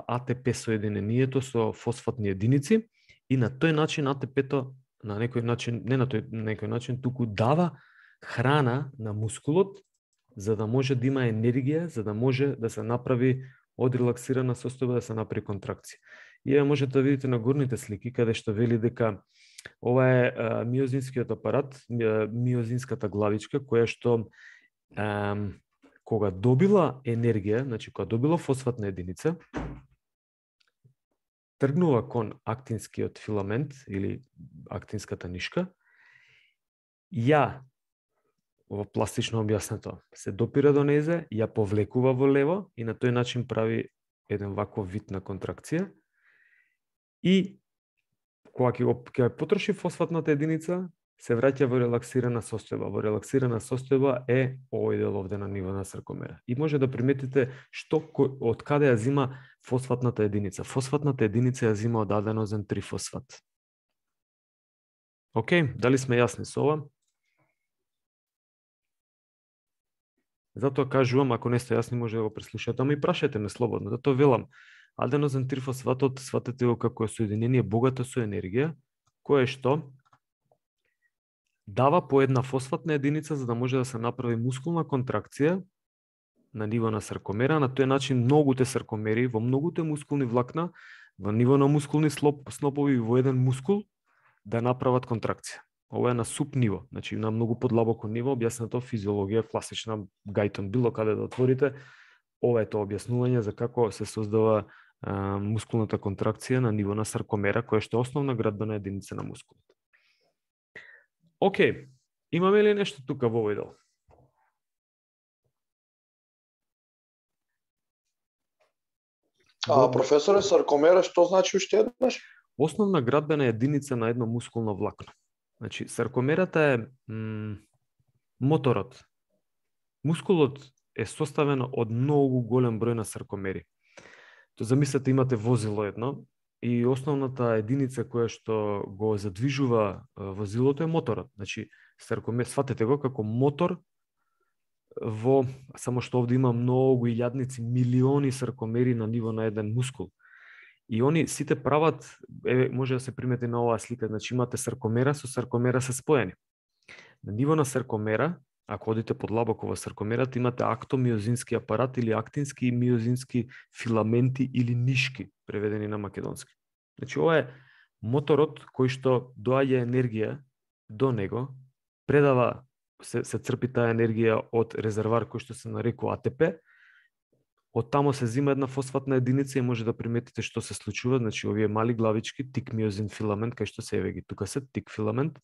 АТП соединението со фосфатни единици и на тој начин АТП-то на некој начин, не на некој начин, туку дава храна на мускулот за да може да има енергија, за да може да се направи од релаксирана состојба да се направи контракција. И можете да видите на горните слики каде што вели дека ова е миозинскиот апарат, миозинската главичка која што кога добила енергија, значи кога добила фосфатна единица, тргнува кон актинскиот филамент или актинската нишка, ова пластично објаснето, се допира до незе, ја повлекува во лево и на тој начин прави еден ваков вид на контракција. И кога ќе потроши фосфатната единица, се враќа во релаксирана состојба. Во релаксирана состојба е овој дел овде на ниво на саркомера. И може да приметите од каде ја зима фосфатната единица. Фосфатната единица ја зима од аденозен трифосфат. Океј, дали сме јасни со ова? Затоа кажувам, ако не сте јасни, може да го преслушате, ама и прашајте ме слободно. Затоа велам, аденозен трифосфатот сватете го како соединение богато со енергија, кое што дава по една фосфатна единица за да може да се направи мускулна контракција на ниво на саркомера. На тој начин многуте саркомери во многуте мускулни влакна во ниво на мускулни снопови во еден мускул да направат контракција. Ова е на суп ниво, значи на многу подлабоко ниво, објаснато физиологија класична, Гајтон, било каде да отворите, ова е тоа објаснување за како се создава мускулната контракција на ниво на саркомера, која што е основна градбена единица на мускулот. Океј, имаме ли нешто тука во овој дел? Професоре, саркомера што значи уште еднаш? Основна градбена единица на едно мускулно влакно. Значи, саркомерата е моторот. Мускулот е составен од многу голем број на саркомери. То замислете, имате возило едно и основната единица која што го задвижува возилото е моторот. Значи, саркомер, сватете го како мотор само што овде има многу илјадници, милиони саркомери на ниво на еден мускул. И они сите прават, може да се примети на оваа слика, значи имате саркомера со саркомера се споени. На ниво на саркомера, ако одите подлабоко во саркомерата, имате актомиозински апарат или актински и миозински филаменти или нишки, преведени на македонски. Значи ова е моторот кој што доаѓа енергија до него, предава, се црпи таа енергија од резервар кој што се нарекува АТП, од тамо се зима една фосфатна единица и може да приметите што се случува, значи овие мали главички, тик миозин филамент, кај што се еве ги, тука се тик филамент,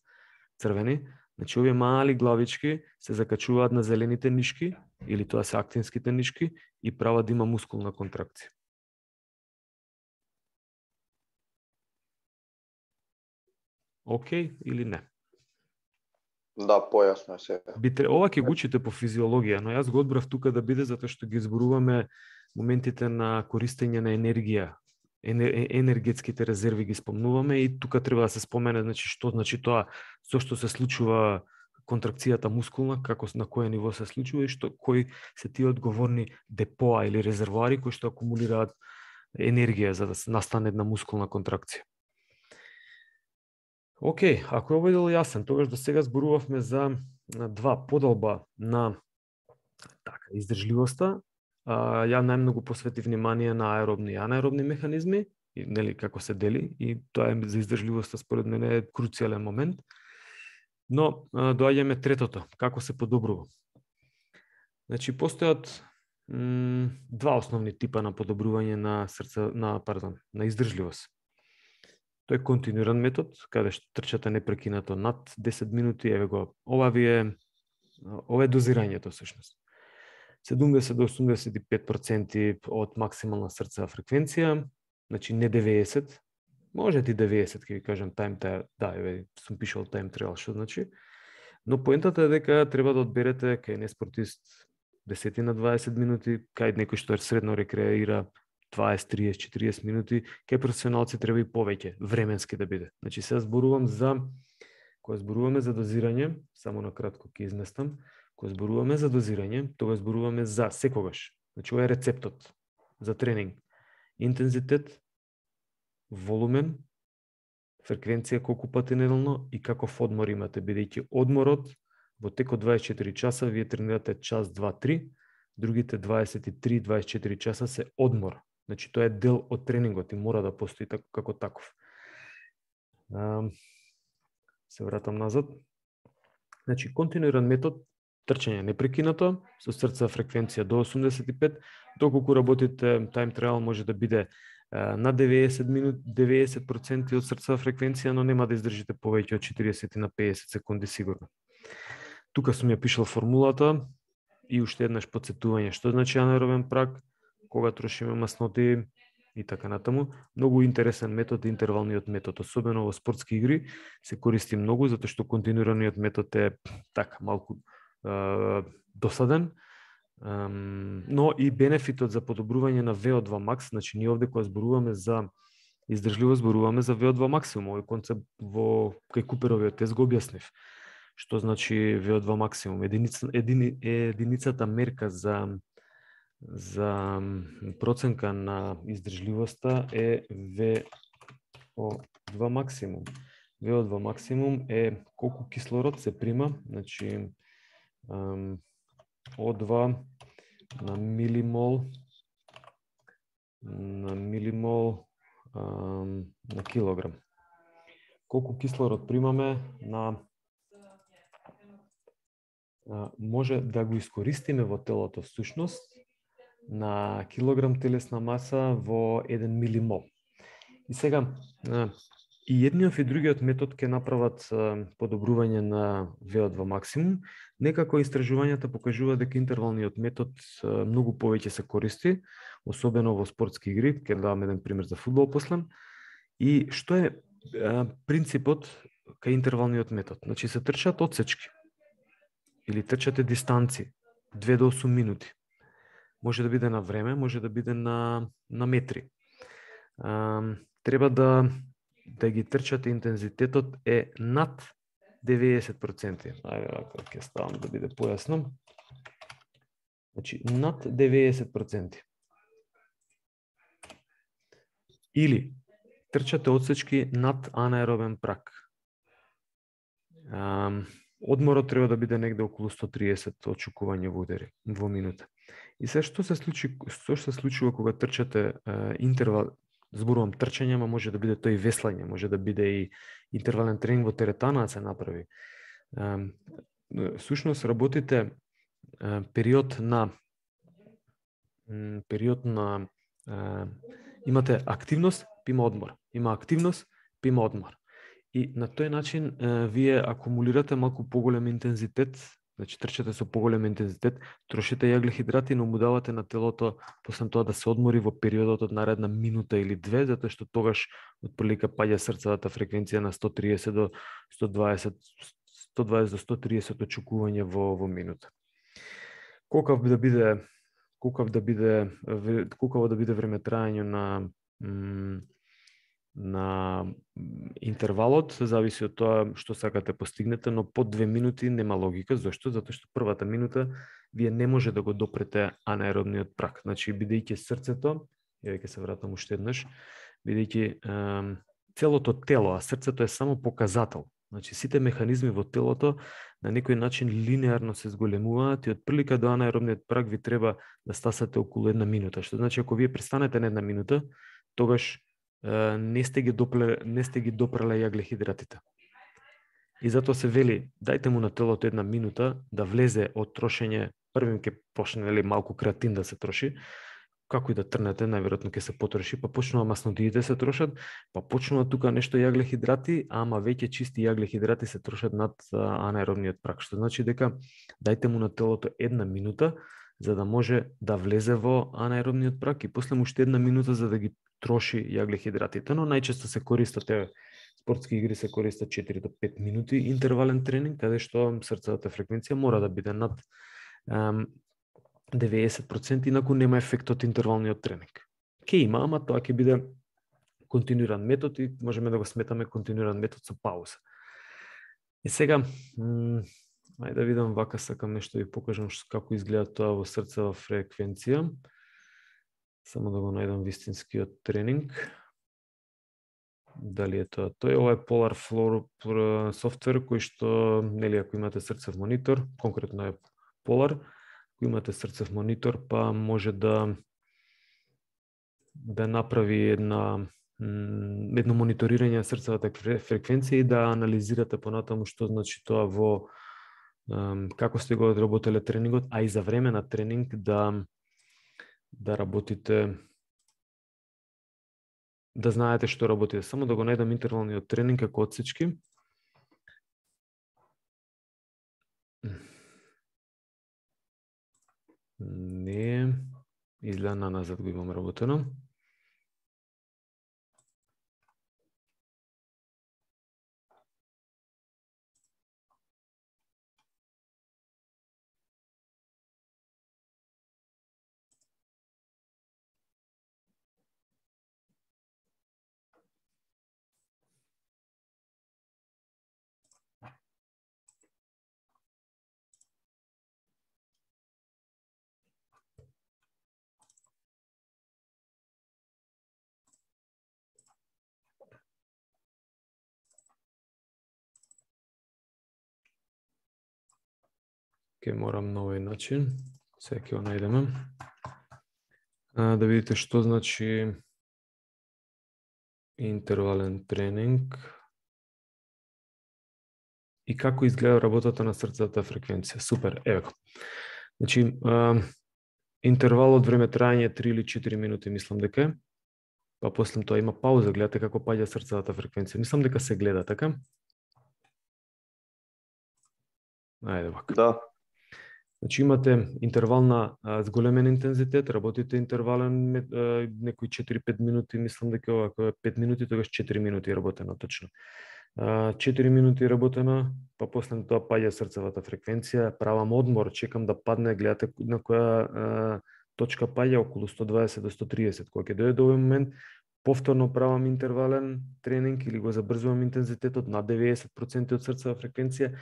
црвени, значи овие мали главички се закачуваат на зелените нишки, или тоа се актинските нишки, и прават да има мускулна контракција. Океј или не? Да, појасно е сега. Ова ќе го учите по физиологија, но јас го одбрав тука да биде затоа што ги зборуваме моментите на користење на енергија. Енергетските резерви ги спомнуваме и тука треба да се спомене, значи што значи тоа, зошто се случува контракцијата мускулна, како на кое ниво се случува и кои се тие одговорни депоа или резервоари кои што акумулираат енергија за да се настане една мускулна контракција. Океј, ако е овој дел јасен, тогаш до сега зборувавме за два подолба на издржливоста. Ја најмногу посвети внимание на аеробни и анаеробни механизми, и нели како се дели, и тоа е за издржливоста според мене е круцијален момент. Но доаѓаме третото, како се подобрува. Значи постојат два основни типа на подобрување на на издржливост. Тој е континуиран метод, каде што трчате непрекинато над 10 минути, еве го, ова е дозирањето всушност. 70 до 85% од максимална срцева фреквенција, значи не 90, може ти 90, ќе ви кажам, еве, сум пишал time trial, што значи, но поентата е дека треба да одберете кај не спортист 10 на 20 минути, кај некој што средно рекреира 20, 30, 40 минути, кај професионалци треба и повеќе, временски да биде. Значи, сега кога зборуваме за дозирање, само на кратко ќе изместам, кога зборуваме за дозирање, тога зборуваме за секогаш. Значи, ова е рецептот за тренинг. Интензитет, волумен, фреквенција колку пати неделно и каков одмор имате, бидејќи одморот во текот 24 часа вие тренирате час, 2, 3, другите 23-24 часа се одмор. Значи, тоа е дел од тренингот и мора да постои како таков. Се вратам назад. Значи, континуиран метод, трчање непрекинато, со срцева фреквенција до 85, доколку работите time trial може да биде на 90% од срцева фреквенција, но нема да издржите повеќе од 40 на 50 секунди сигурно. Тука сум ја пишал формулата и уште еднаш подсетување што значи анаеробен праг, кога трошиме масноти и така натаму. Многу интересен метод, интервалниот метод, особено во спортски игри, се користи многу, затоа што континуираниот метод е така малку досаден, но и бенефитот за подобрување на VO2 max, значи ние овде кога зборуваме за издржливост, зборуваме за VO2 максимум, овој концепт кај Куперовиот тест го објаснив. Што значи VO2 максимум? Единицата мерка за проценка на издржливоста е VO2 максимум. VO2 максимум е колку кислород се прима, значи O2 на милимол на килограм. Колку кислород примаме може да го искористиме во телото всушност на килограм телесна маса во 1 милимол. И сега и едниот и другиот метод ќе направат подобрување на VO2 максимум. Некако истражувањата покажуваат дека интервалниот метод многу повеќе се користи, особено во спортски игри. Ќе дадам еден пример за фудбал после. И што е принципот кај интервалниот метод? Значи се трчаат одсечки или трчате дистанци 2 до 8 минути. Може да биде на време, може да биде на метри. Треба да ги трчате, интензитетот е над 90%. Ајде, ако ќе ставам да биде појасно. Значи, над 90%. Или трчате одсечки над анаеробен праг. Одморот треба да биде негде околу 130 очукување во удери во минута. И се што се случува кога трчате интервал, зборувам трчање, ама може да биде тој и веслање, може да биде и интервален тренинг во теретана да се направи. Всушност работите период на имате активност, па има одмор. Има активност, па има одмор. И на тој начин вие акумулирате малку поголем интензитет, значи трчате со поголем интензитет, трошите јаглехидрати, но му давате на телото после тоа да се одмори во периодот од наредна минута или две, затоа што тогаш отприлика паѓа срцевата фреквенција на 130 до 120 до 130 очукување во минута. Колкав да биде времетраење на интервалот, зависи од тоа што сакате постигнете, но под 2 минути нема логика. Зошто? Затоа што првата минута вие не може да го допрете анаеробниот праг. Значи, бидејќи срцето, ќе се вратам уште еднаш, бидејќи целото тело, а срцето е само показател. Значи сите механизми во телото на некој начин линеарно се зголемуваат и од прилика до анаеробниот праг ви треба да стасате околу 1 минута. Што значи ако вие престанете на 1 минута, тогаш не сте ги допреле јаглехидратите. И затоа се вели, дајте му на телото 1 минута да влезе од трошење, првим ќе почне малку креатин да се троши, како и да трнете, најверојатно ќе се потроши, па почнува маснодиите се трошат, па почнува тука нешто јаглехидрати, ама веќе чисти јаглехидрати се трошат над анаеробниот праг, што значи дека дајте му на телото 1 минута за да може да влезе во анаеробниот праг и после му уште 1 минута за да ги троши јаглехидратите, но најчесто се користат спортски игри се користат 4 до 5 минути интервален тренинг, каде што срцевата фреквенција мора да биде над 90%, инаку нема ефект од интервалниот тренинг. Ке има, ама тоа ќе биде континуиран метод и можеме да го сметаме континуиран метод со пауза. И сега, ајде да видам вака, сакам нешто да ви покажам како изгледа тоа во срцева фреквенција. Само да го најдам вистинскиот тренинг. Дали е тоа? Тој ова е Polar Flow софтвер кој што, нели, ако имате срцев монитор, конкретно е Polar, ако имате срцев монитор, па може да направи едно мониторирање на срцевата фреквенција и да анализирате понатаму што значи тоа во како сте го одработеле тренингот, а и за време на тренинг да работите, да знаете што работите. Само да го најдам интервалниот тренинг како одсечки. Не, изгледа на назад го имам работено. Ке морам на овој начин, сега ќе го најдеме. Да видите што значи интервален тренинг и како изгледа работата на срцевата фреквенција. Супер, ево. Значи, интервалот време трајање 3 или 4 минути, мислам дека е. Па после тоа има пауза, гледате како паѓа срцевата фреквенција. Мислам дека се гледа, така? Ајде вака. Да. Значи имате интервална зголемен интензитет, работите интервален некои 4-5 минути, мислам дека ова е 5 минути, тогаш 4 минути работено точно. 4 минути работено, па после тоа паѓа срцевата фреквенција, правам одмор, чекам да падне, гледате на која точка паѓа, околу 120 до 130. Кога ќе дојде до овој момент, повторно правам интервален тренинг или го забрзувам интензитетот на 90% од срцева фреквенција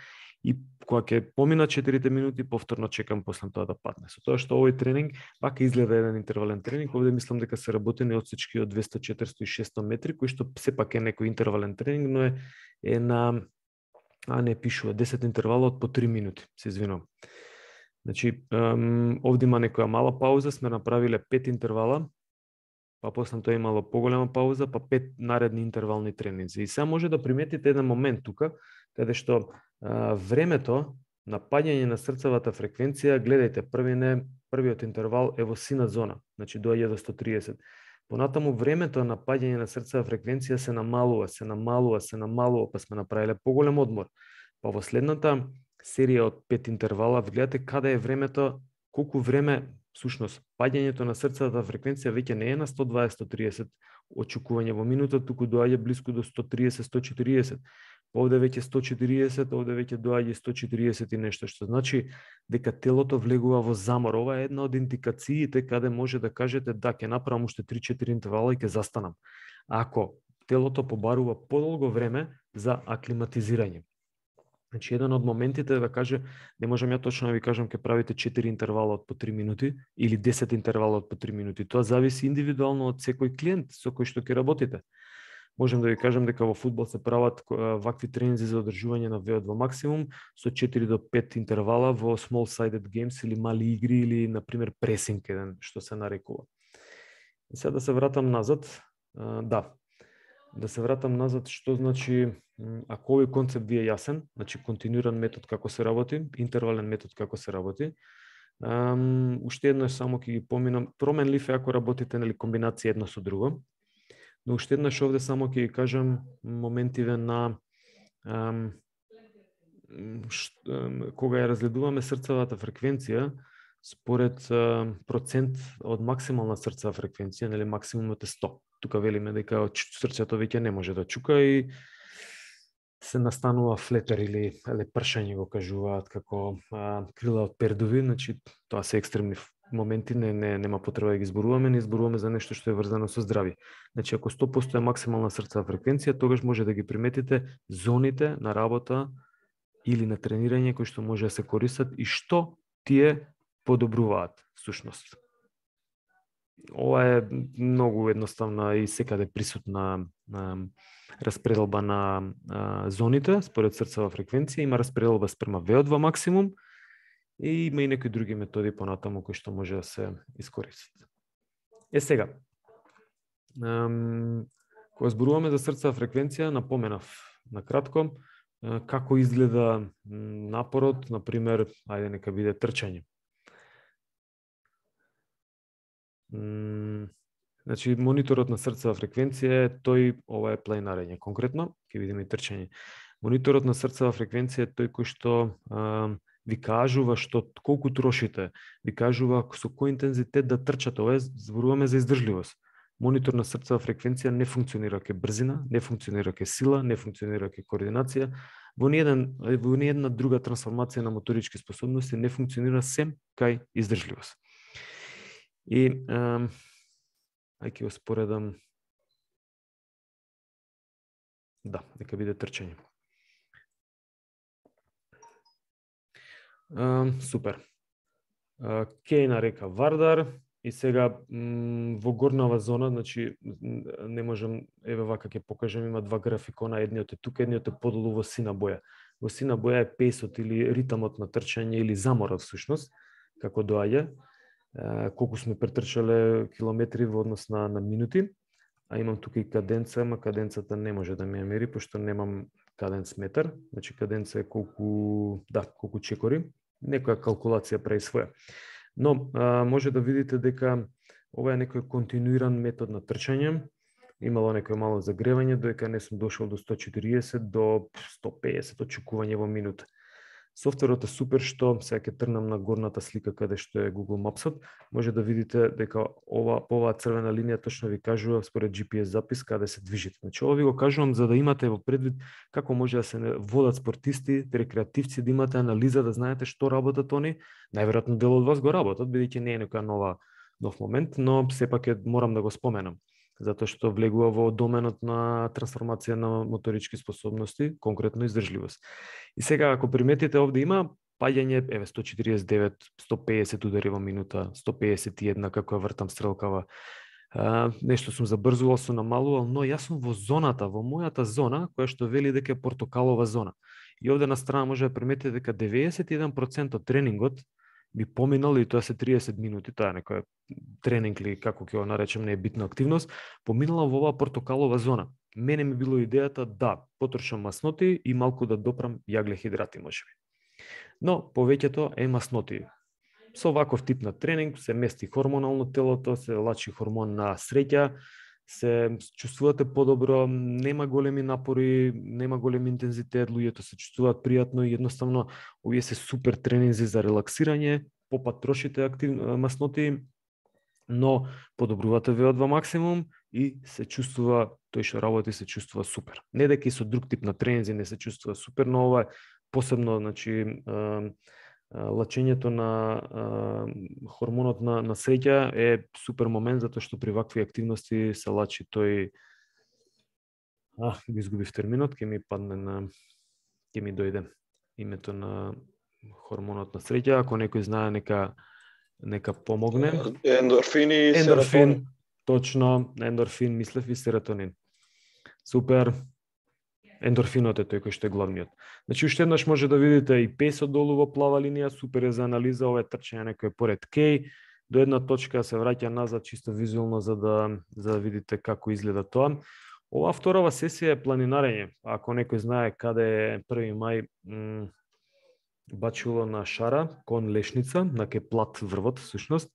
и кога ќе помина 4 минути, повторно чекам после тоа да падне. Со тоа што овој тренинг пак изгледа еден интервален тренинг, овде мислам дека се работени одсечки од 200, 400 и 600 метри, кој што сепак е некој интервален тренинг, но е на не пишува 10 интервала од по 3 минути, се извинувам. Значи, овде има некоја мала пауза, сме направиле 5 интервала, па после тоа имало поголема пауза, па 5 наредни интервални тренинзи. И сега може да приметите еден момент тука, каде што времето на паѓање на срцевата фреквенција, гледајте, првиот интервал е во сина зона, значи доаѓа до 130. Понатаму времето на паѓање на срцева фреквенција се намалува, па сме направиле поголем одмор. Па во следната серија од 5 интервала, гледате каде е времето, колку време, всушност, паѓањето на срцевата фреквенција веќе не е на 120-130 очекување во минута, туку доаѓа близко до 130-140. Овде веќе 140, овде веќе доаѓа 140 и нешто, што значи дека телото влегува во замор. Ова е една од индикациите каде може да кажете да, ќе направам уште 3-4 интервала и ќе застанам. Ако телото побарува подолго време за аклиматизирање. Значи, еден од моментите е да каже, не можам ја точно да ви кажам, ќе правите 4 интервала од по 3 минути или 10 интервала од по 3 минути. Тоа зависи индивидуално од секој клиент со кој што ќе работите. Можем да ви кажем дека во фудбал се прават вакви тренинзи за одржување на VO2 максимум со 4 до 5 интервала во small sided games или мали игри или на пример пресинг еден што се нарекува. И сега да се вратам назад, да се вратам назад, што значи ако овој концепт ви е јасен, значи континуиран метод како се работи, интервален метод како се работи. Уште еднаш само ќе ги поминам, променлив е ако работите нели комбинација едно со друго. Но уште еднаш овде само ќе ги кажам моментиве на кога ја разгледуваме срцевата фреквенција според процент од максимална срцева фреквенција, нели максимумот е 100. Тука велиме дека срцето веќе не може да чука и се настанува флетер или пршање го кажуваат како крила од пердови, значи тоа се екстремни моменти, нема потреба да ги зборуваме, не зборуваме за нешто што е врзано со здравје. Значи ако 100% е максимална срцева фреквенција, тогаш може да ги приметите зоните на работа или на тренирање кои што може да се користат и што тие подобруваат всушност. Ова е многу едноставна и секаде присутна распределба на зоните според срцева фреквенција, има распределба спрема VO2 максимум и има и некои други методи понатаму кои што може да се искористат. Сега, кога зборуваме за срцева фреквенција, напоменав на кратко како изгледа напорот, например, ајде нека биде трчање. Значи, мониторот на срцева фреквенција е тој, ова е планинарење конкретно, ќе видиме и трчање. Мониторот на срцева фреквенција е тој кој што ви кажува што колку трошите, ви кажува со кој интензитет да трчате. Ова зборуваме за издржливост. Монитор на срцева фреквенција не функционира ке брзина, не функционира ке сила, не функционира ке координација. Во ниедна друга трансформација на моторички способности не функционира сем кај издржливост. И ќе споредам. Нека биде трчање. Супер. Кеј на река Вардар и сега во горнава зона, значи не можам, еве вака ќе покажам, има два графикона, едниот е тука, едниот е подолу во сина боја. Во сина боја е пејсот или ритамот на трчање или заморот всушност, како доаѓа, колку сме претрчале километри во однос на минути, а имам тука и каденца, ама каденцата не може да ми ја мери, пошто немам каденц метар, значи каденца е колку чекори, некоја калкулација прави своја. Но може да видите дека ова е некој континуиран метод на трчање, имало некој мало загревање, додека не сум дошол до 140 до 150 очекување во минута. Софтверот е супер што, сега ќе трнам на горната слика каде што е Google Maps-от, може да видите дека оваа црвена линија точно ви кажува според GPS запис каде се движите. Значи ова ви го кажувам за да имате во предвид како може да се водат спортисти, рекреативци, да имате анализа, да знаете што работат они. Најверојатно дел од вас го работат, бидејќи не е некоја нов момент, но сепак морам да го споменам, затоа што влегува во доменот на трансформација на моторички способности, конкретно издржливост. И сега, ако приметите, овде има паѓање, 149, 150 удари во минута, 151, како ја вртам стрелкава. Нешто сум забрзувал, сум намалувал, но јас сум во зоната, во мојата зона, која што вели дека е портокалова зона. И овде на страна може да приметите дека 91% од тренингот би поминал, и тоа се 30 минути, тоа е некоја тренинг или како ќе го наречем, не е битна активност, поминала во оваа портокалова зона. Мене ми било идејата да потрошам масноти и малку да допрам јаглехидрати можеби. Но повеќето е масноти. Со ваков тип на тренинг се мести хормонално телото, се лачи хормон на среќа, се чувствувате подобро, нема големи напори, нема голем интензитет, луѓето се чувствуваат пријатно и едноставно овие се супер тренинзи за релаксирање, попат трошите масноти, но подобрувате VO2 максимум и се чувствува, тој што работи се чувствува супер. Не дека и со друг тип на тренинзи не се чувствува супер, но ова е посебно, значи лачењето на хормонот на среќа е супер момент, затоа што при вакви активности се лачи тој го изгубив терминот, ќе ми дојде името на хормонот на среќа, ако некој знае нека помогне. Ендорфин и серотонин. Точно, ендорфин, мислев и серотонин. Супер. Ендорфинот е тој кој што е главниот. Значи, уште еднаш може да видите и песот долу во плава линија, супер е за анализа, ова е трчање некој поред кеј, до една точка се враќа назад чисто визуелно за да видите како изгледа тоа. Ова вторава сесија е планинарење. Ако некој знае каде е 1 мај бачило на Шара, кон Лешница, на ке плат врвот, всушност,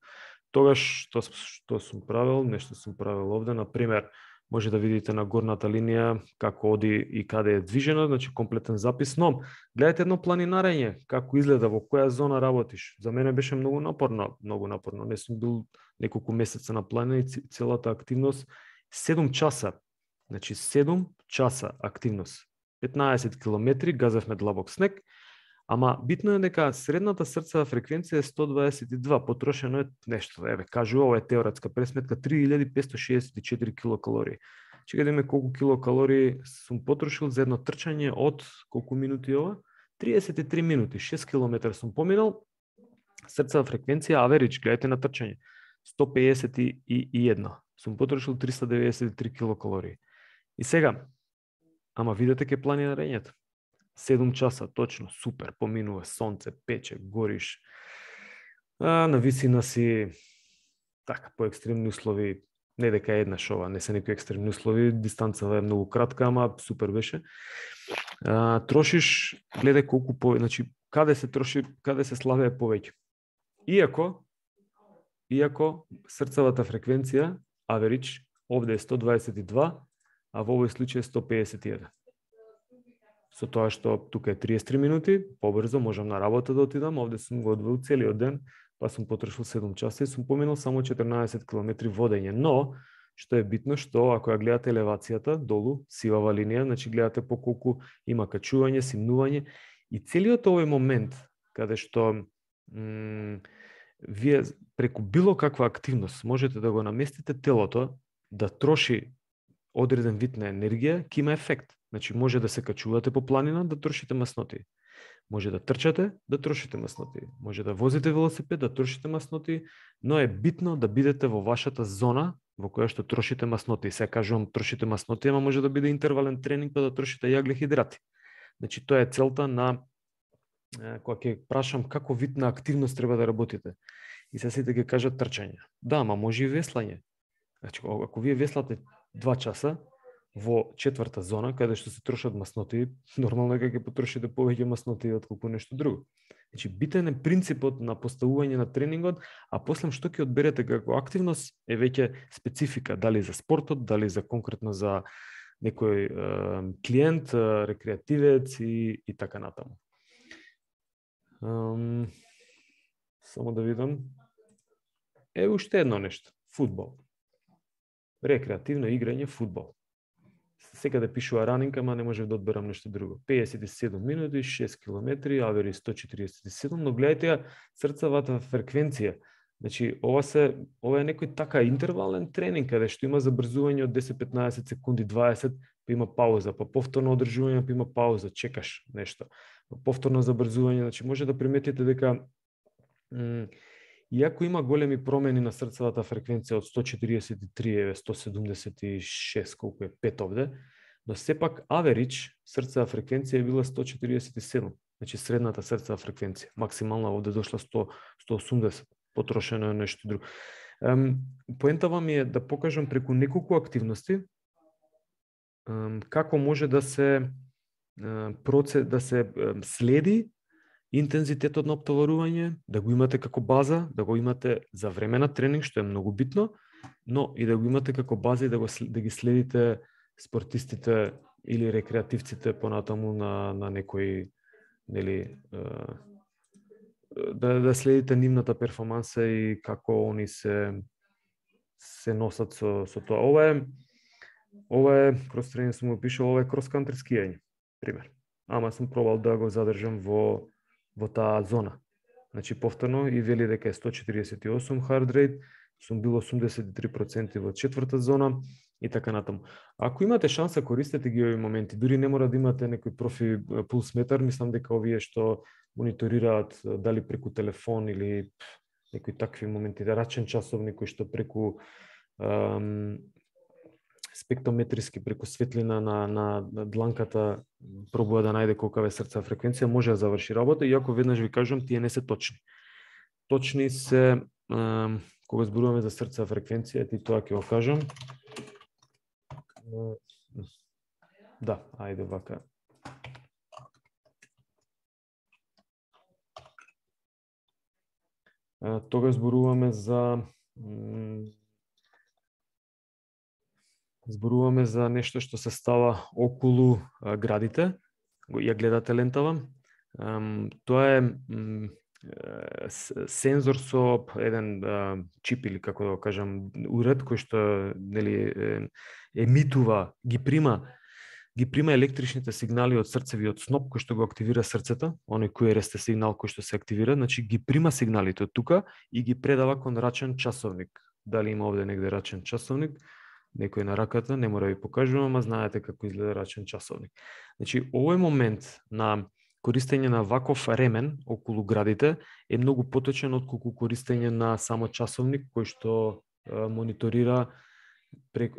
тогаш што сум правил, нешто сум правил овде, например, може да видите на горната линија како оди и каде е движено, значи комплетен запис, но гледате едно планинарење, како изгледа, во која зона работиш. За мене беше многу напорно. Не сум бил неколку месеца на планина и целата активност 7 часа. Значи 7 часа активност. 15 километри, газевме длабок снег, ама битно е дека средната срцева фреквенција е 122, потрошено е нешто, кажу, ова е теоретска пресметка, 3564 килокалории. Чека да име колку килокалории сум потрошил за едно трчање од колку минути ова? 33 минути, 6 километра сум поминал, срцева фреквенција, аверидж, гледате на трчање, 151, сум потрошил 393 килокалории. И сега, ама видете ке планинарењето. 7 часа, точно, супер, поминува, сонце, пече, гориш. На висина си, така, по екстремни услови, не дека еднаш ова, не се некои екстремни услови, дистанцава е многу кратка, ама супер беше. Трошиш, гледај колку значи, каде се троши, каде се славее повеќе. Иако срцевата фреквенција, average, овде е 122, а во овој случај е 151. Со тоа што тука е 33 минути, побрзо можам на работа да отидам, овде сум го одвоил целиот ден, па сум потрошил 7 часа и сум поминал само 14 км водење. Но, што е битно, што ако ја гледате елевацијата, долу, сивава линија, значи гледате по колку има качување, симнување и целиот овој момент, каде што вие преку било каква активност можете да го наместите телото да троши одреден вид на енергија, ќе има ефект. Значи, може да се качувате по планина, да трошите масноти. Може да трчате, да трошите масноти. Може да возите велосипед, да трошите масноти, но е битно да бидете во вашата зона во која што трошите масноти. Сега кажувам трошите масноти, ама може да биде интервален тренинг па да трошите јаглехидрати. Значи, тоа е целта на кога ќе прашам како вид на активност треба да работите. И се сите ќе кажат трчање. Да, ама може и веслање. Значи, ако вие веслате 2 часа, во четврта зона, каде што се трошат масноти, нормално е дека ќе потрошите повеќе масноти отколку нешто друго. Значи, битен е принципот на поставување на тренингот, а после што ќе одберете како активност е веќе специфика, дали за спортот, дали за конкретно за некој клиент, рекреативец и така натаму. Само да видам. Уште едно нешто. Фудбал. Рекреативно играње фудбал. Секаде пишува ранинг, ама не можев да одберам нешто друго. 57 минути, 6 километри, авери 147, но гледајте срцевата фреквенција. Значи, ова е некој така интервален тренинг, каде што има забрзување од 10-15 секунди, 20, па има пауза, па повторно одржување, па има пауза, чекаш нешто. Повторно забрзување, значи може да приметите дека иако има големи промени на срцевата фреквенција од 143, 176, колку е 5 овде, но сепак average срцева фреквенција била 147, значи средната срцева фреквенција. Максимална овде дошла 180, потрошено е нешто друго. Поентава ми е да покажам преку неколку активности како може да се следи интензитетот на оптоварување, да го имате како база, да го имате за време на тренинг, што е многу битно, но и да го имате како база и да ги следите спортистите или рекреативците понатаму на некој, нели, да следите нивната перформанса и како они се носат со тоа. Ова е крос тренинг сум го пишал, ова е крос кантри скијање, пример. Ама сум пробал да го задржам во таа зона. Значи, повторно и вели дека е 148 hard rate, сум бил 83% во четврта зона и така натаму. Ако имате шанса, користете ги овие моменти. Дури не мора да имате некој профи пулс метар, мислам дека овие што мониторираат дали преку телефон или некои такви моменти, да рачен часовник кој што преку спектрометриски преку светлина на дланката пробува да најде колкава е срцева фреквенција, може да заврши работа, иако веднаш ви кажам, тие не се точни. Точни се кога зборуваме за срцева фреквенција, ти тоа ќе го кажам. Да, ајде вака. Тога зборуваме за нешто што се става околу градите. Ја гледате лентава. Тоа е сензор со еден чип или како да го кажам уред кој што нели емитува, ги прима електричните сигнали од срцевиот сноп кој што го активира срцето, оној QRS сигнал кој што се активира, значи ги прима сигналите од тука и ги предава кон рачен часовник. Дали има овде негде рачен часовник? Некој на раката, не мора да ви покажувам, ама знаете како изгледа рачен часовник. Значи, овој момент на користење на ваков ремен околу градите е многу поточен отколку користење на само часовник кој што мониторира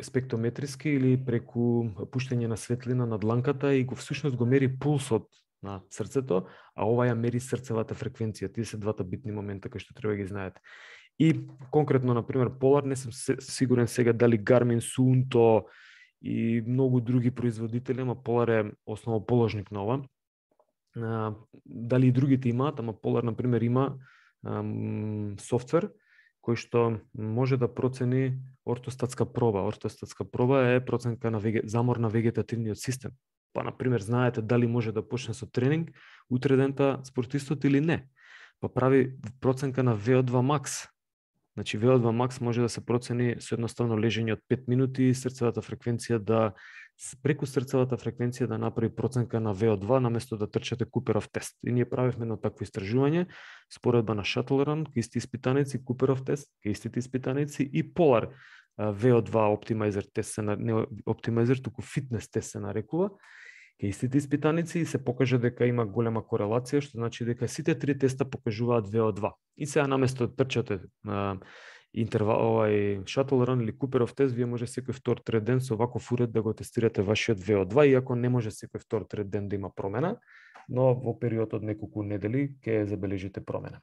спектрометриски или преку пуштање на светлина на дланката и всушност го мери пулсот на срцето, а ова ја мери срцевата фреквенција. Тие се двата битни момента кои што треба да ги знаете. И конкретно, например, Polar, не сум сигурен сега дали Garmin, Suunto и многу други производители, ама Polar е основоположник на ова. Дали и другите имаат, ама Polar, например, има софтвер кој што може да процени ортостатска проба. Ортостатска проба е проценка на замор на вегетативниот систем. Па, например, знаете дали може да почне со тренинг утре дента спортистот или не. Па прави проценка на VO2 max. Значи, VO2 max може да се процени со едноставно лежење од 5 минути, срцевата фреквенција преку срцевата фреквенција да направи проценка на VO2 наместо да трчате Куперов тест. И ние правивме едно такво истражување, споредба на Shuttle Run, ке исти испитаници, Куперов тест, ке истите испитаници и Polar VO2 Optimizer тест, не Optimizer, туку фитнес тест се нарекува, ке истите испитаници и се покажа дека има голема корелација, што значи дека сите три теста покажуваат VO2. И сега наместо да трчате интервал, Shuttle Run или Куперов тест, вие може секој втор трет ден со ваков уред да го тестирате вашиот VO2, иако не може секој втор трет ден да има промена, но во период од неколку недели ќе забележите промена.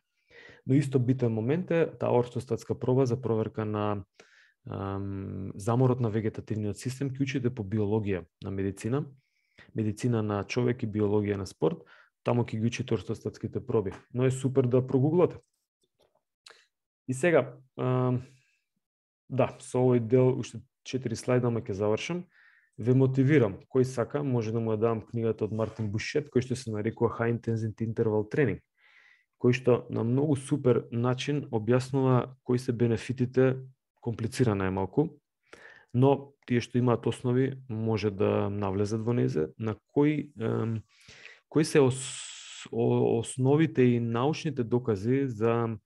Но исто битен момент е таа ортостатска проба за проверка на заморот на вегетативниот систем, ќе учите по биологија на медицина на човек и биологија на спорт, таму ќе ги учите ортостатските проби. Но е супер да прогуглате. И сега, да, со овој дел, уште 4 слайда, ме ќе завршам. Ве мотивирам, кој сака, може да му ја дам книгата од Мартин Бушет, кој што се нарекува High Intensity Interval Training, кој што на многу супер начин објаснува кои се бенефитите, комплицирана е малку, но тие што имаат основи може да навлезат во незе, на кои се основите и научните докази за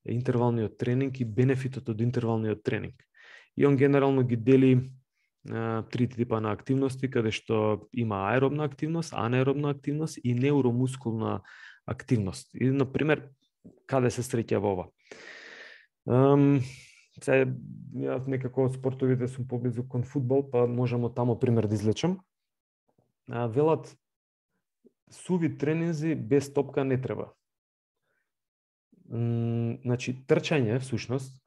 интервалниот тренинг и бенефитот од интервалниот тренинг. И он генерално ги дели три типа на активности, каде што има аеробна активност, анаеробна активност и неуромускулна активност. И, например, каде се среќа во ова? Сега, јас некако од спортовите сум поблизу кон фудбал, па можам таму пример да извлечам. Велат, суви тренинзи без топка не треба. Значи, трчање, всушност,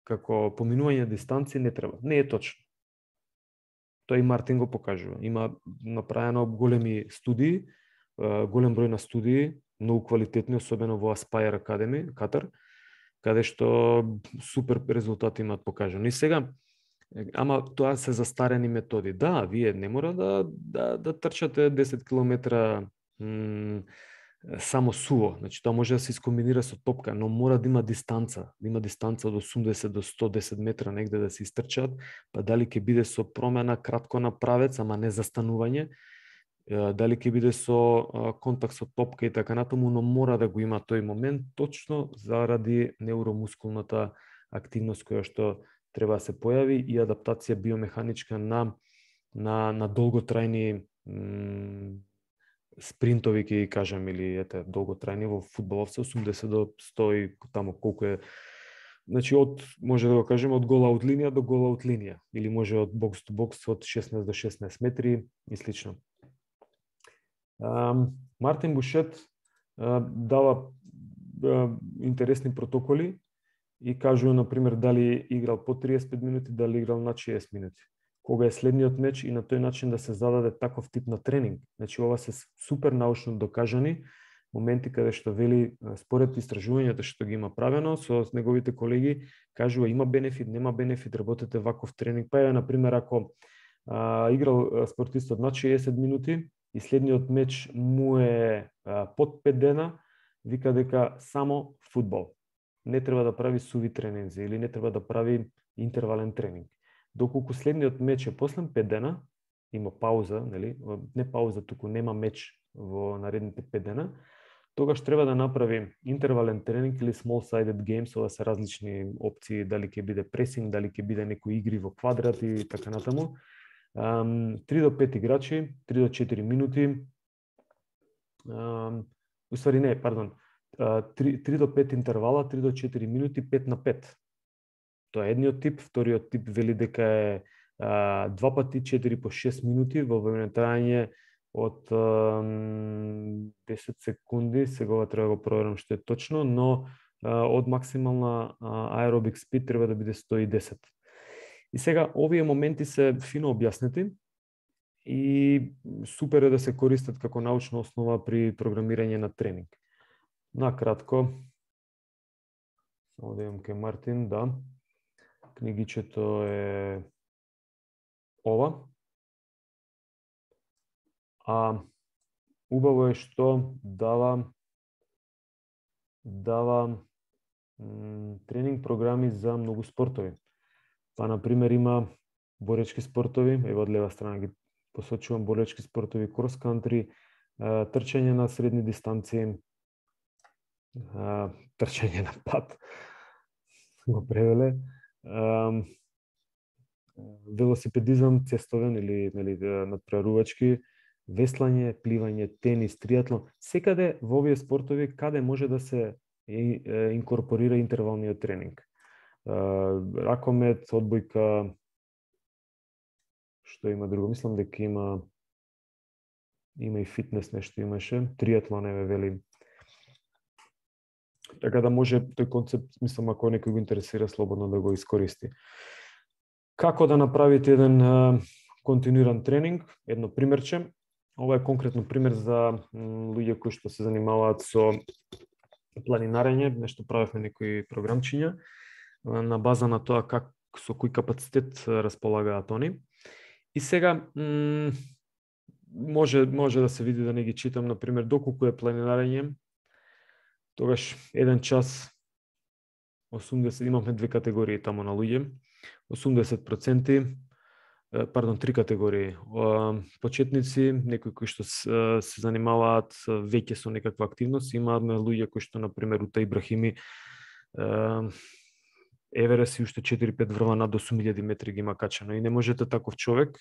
како поминување дистанци не треба. Не е точно. Тој и Мартин го покажува. Има направено големи студии, голем број на студии, многу квалитетни, особено во Aspire Academy, Катар, каде што супер резултати имаат покажано. И сега, ама тоа се застарени методи. Да, вие не мора да трчате 10 километра само суво. Значи, тоа може да се искомбинира со топка, но мора да има дистанца. Да има дистанца од 80 до 110 метра негде да се истрчат, па дали ќе биде со промена кратко на правец, ама не застанување, дали ќе биде со контакт со топка и така натаму, но мора да го има тој момент точно заради неуромускулната активност која што треба да се појави и адаптација биомеханичка на долготрајни спринтови, ќе ги кажам, или долготрајни во фудбалот се 80 до 100 и таму колку е Значи може да го кажеме од гол-аут линија до гол-аут линија или може од бокс до бокс од 16 до 16 метри и слично. Мартин Бушет дава интересни протоколи и кажува на пример дали играл по 35 минути, дали играл над 60 минути. Кога е следниот меч и на тој начин да се зададе таков тип на тренинг. Значи ова се супер научно докажани моменти каде што вели според истражувањата што ги има правено со неговите колеги, кажува има бенефит, нема бенефит, работете ваков тренинг. Па е на пример ако играл спортистот над 60 минути и следниот меч му е под 5 дена, вика дека само фудбал. Не треба да прави суви тренинзи или не треба да прави интервален тренинг. Доколку следниот меч е после 5 дена, има пауза, нели? Не пауза, туку нема меч во наредните 5 дена, тогаш треба да направи интервален тренинг или small-sided games, ова се различни опции, дали ќе биде пресинг, дали ќе биде некои игри во квадрат и така натаму. 3 до 5 играчи, 3 до 4 минути. Уствари не, пардон. 3 до 5 интервала, 3 до 4 минути, 5 на 5. Тоа е едниот тип, вториот тип вели дека е 2 пати 4 по 6 минути во време трајање од 10 секунди, сега треба да го проверам што е точно, но од максимална аеробик спид треба да биде 110. И сега овие моменти се фино објаснети и супер е да се користат како научна основа при програмирање на тренинг. Накратко, само да имам кај Мартин, да. Книгичето е ова. Убаво е што дава тренинг програми за многу спортови. Па, например, има боречки спортови, ево од лева страна ги посочувам боречки спортови, крос кантри, трчање на средни дистанции, трчање на пат, го превеле, велосипедизам цестовен или надпреварувачки, веслање, пливање, тенис, триатлон, секаде во овие спортови каде може да се инкорпорира интервалниот тренинг. Ракомет, одбојка, што има друго? Мислам дека има и фитнес нешто имаше, триатлон еве вели. Така да може тој концепт, мислам, ако некој го интересира, слободно да го искористи. Како да направите еден континуиран тренинг? Едно примерче. Ова е конкретно пример за луѓе кои што се занимаваат со планинарење, нешто правевме некои програмчиња на база на тоа со кој капацитет располагаат они. И сега може да се види, да не ги читам, на пример, доколку е планинарење, тогаш 1 час 80, имаме две категории тамо на луѓе, 80%, три категории. Почетници, некои кои што се занимаваат веќе со некаква активност, имаме луѓе кои што, например, Ута Ибрахими, Еверест и уште 4-5 врва над 8000 метри ги има качено. И не можете таков човек,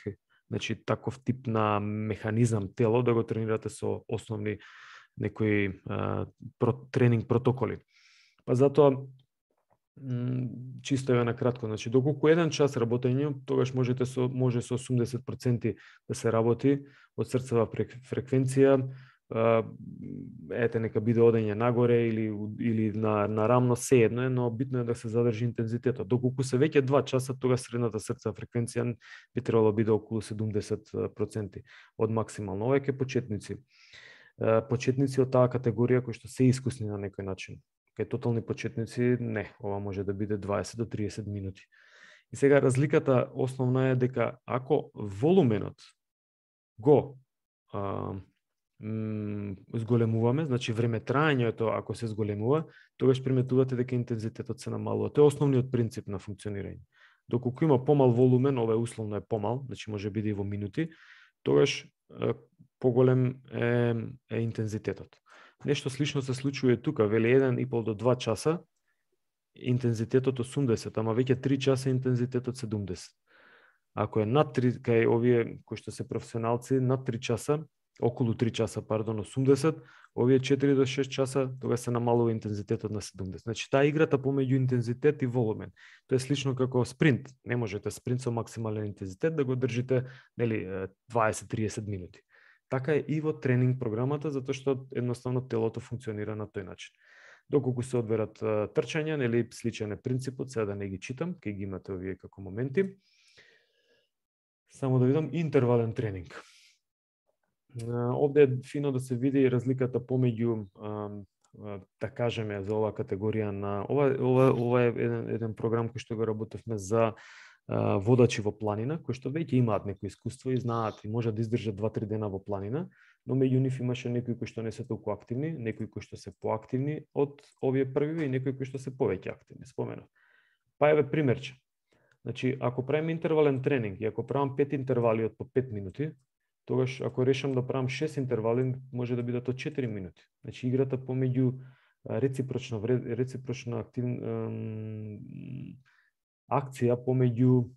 значи таков тип на механизам тело да го тренирате со основни некои тренинг протоколи. Па затоа чисто е на кратко, значи доколку 1 час работење, тогаш може со 80% да се работи од срцева фреквенција, ете нека биде одење нагоре или на рамно, се едно е, но битно е да се задржи интензитетот. Доколку се веќе 2 часа, тогаш средната срцева фреквенција би требало биде околу 70% од максимално. Ова е ке почетници. Почетници од таа категорија кои што се искусни на некој начин. Кај тотални почетници не, ова може да биде 20 до 30 минути. И сега разликата основна е дека ако волуменот го зголемуваме, значи време траењето ако се зголемува, тогаш приметувате дека интензитетот се намалува. Тоа е основниот принцип на функционирање. Доколку има помал волумен, ова е условно е помал, значи може биде и во минути, тогаш поголем е интензитетот. Нешто слично се случува и тука, вели 1,5 до 2 часа, интензитетот 80, ама веќе 3 часа интензитетот 70. Ако е над 3, кај овие кои што се професионалци, над 3 часа, околу 3 часа, 80, овие 4 до 6 часа, тога се намалува интензитетот на 70. Значи, таа играта помеѓу интензитет и волумен. Тоа е слично како спринт. Не можете спринт со максимален интензитет да го држите, нели, 20-30 минути. Така е и во тренинг програмата, затоа што едноставно телото функционира на тој начин. Доколку се одберат трчања, нели, сличен е принципот, сега да не ги читам, кај ги имате овие како моменти. Само да видам интервален тренинг. Овде е фино да се види разликата помеѓу, да кажеме, за оваа категорија на ова е еден програм кој што го работевме за водачи во планина, кои што веќе имаат некој искуство и знаат и можат да издржат 2-3 дена во планина, но меѓу нив имаше некои кои што не се толку активни, некои кои што се поактивни од овие првиви и некои кои што се повеќе активни, споменав. Па еве примерче. Значи, ако правим интервален тренинг и ако правам 5 интервали од по 5 минути, тогаш ако решам да правам 6 интервали, може да бидат од 4 минути. Значи, играта помеѓу реципрочна акција помеѓу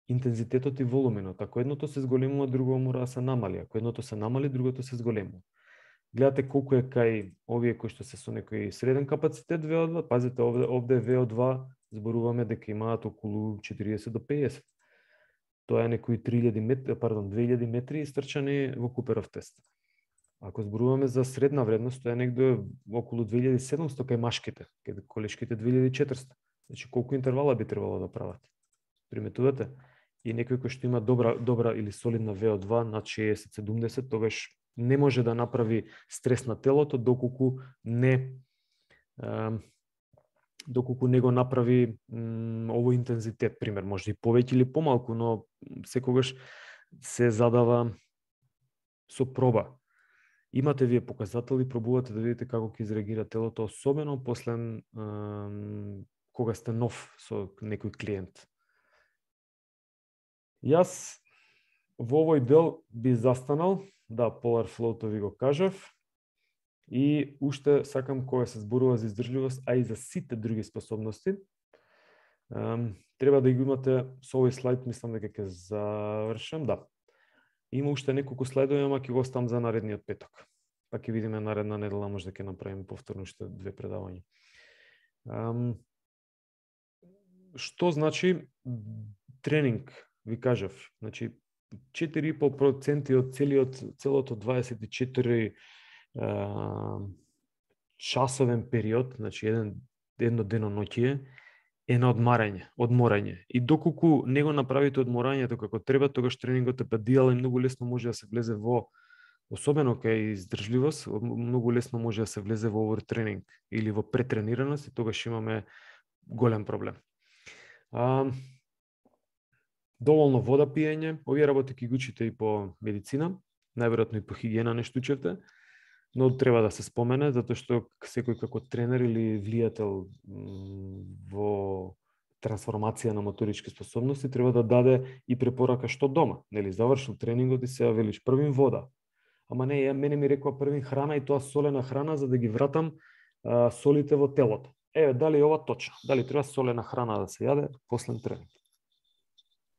интензитетот и волуменот. Ако едното се зголемува, другото мора да се намали. Ако едното се намали, другото се зголемува. Гледате колку е кај овие кои што се со некој среден капацитет VO2, пазите овде VO2 зборуваме дека имаат околу 40 до 50. Тоа е некои 2000 метри истрчани во Куперов тест. Ако зборуваме за средна вредност, тоа е негде околу 2700 кај машките, кај колешките 2400. Значи колку интервала би требало да прават? Приметувате? И некој кој што има добра или солидна VO2 над 60-70, тогаш не може да направи стрес на телото доколку не го направи овој интензитет, пример, може и повеќе или помалку, но секогаш се задава со проба. Имате вие показатели, пробувате да видите како ќе изреагира телото, особено после кога сте нов со некој клиент. Јас во овој дел би застанал, да, Polar Flow-то ви го кажав, и уште сакам кога се зборува за издржливост, а и за сите други способности, треба да ги имате со овој слайд, мислам дека ќе завршам, да. Има уште неколку слайдови, ама ќе го оставам за наредниот петок. Па ќе видиме наредна недела, може да ќе направиме повторно уште 2 предавања. Што значи тренинг, ви кажав, значи 4,5% од целото 24 часовен период, значи едно деноноќие, е на одморање. И доколку не го направите одморањето како треба, тогаш тренингот е падијал и многу лесно може да се влезе во, особено кај издржливост, многу лесно може да се влезе во овертренинг или во претренираност и тогаш имаме голем проблем. Доволно вода пиење, овие работи ќе ги учите и по медицина, најверојатно и по хигиена нешто учевте, но треба да се спомене, затоа што секој како тренер или влијател во трансформација на моторички способности треба да даде и препорака што дома. Нели, завршил тренингот и сега велиш првин вода. Ама не, мене ми рекоа првин храна и тоа солена храна за да ги вратам солите во телото. Еве, дали ова точно? Дали треба солена храна да се јаде после тренинг?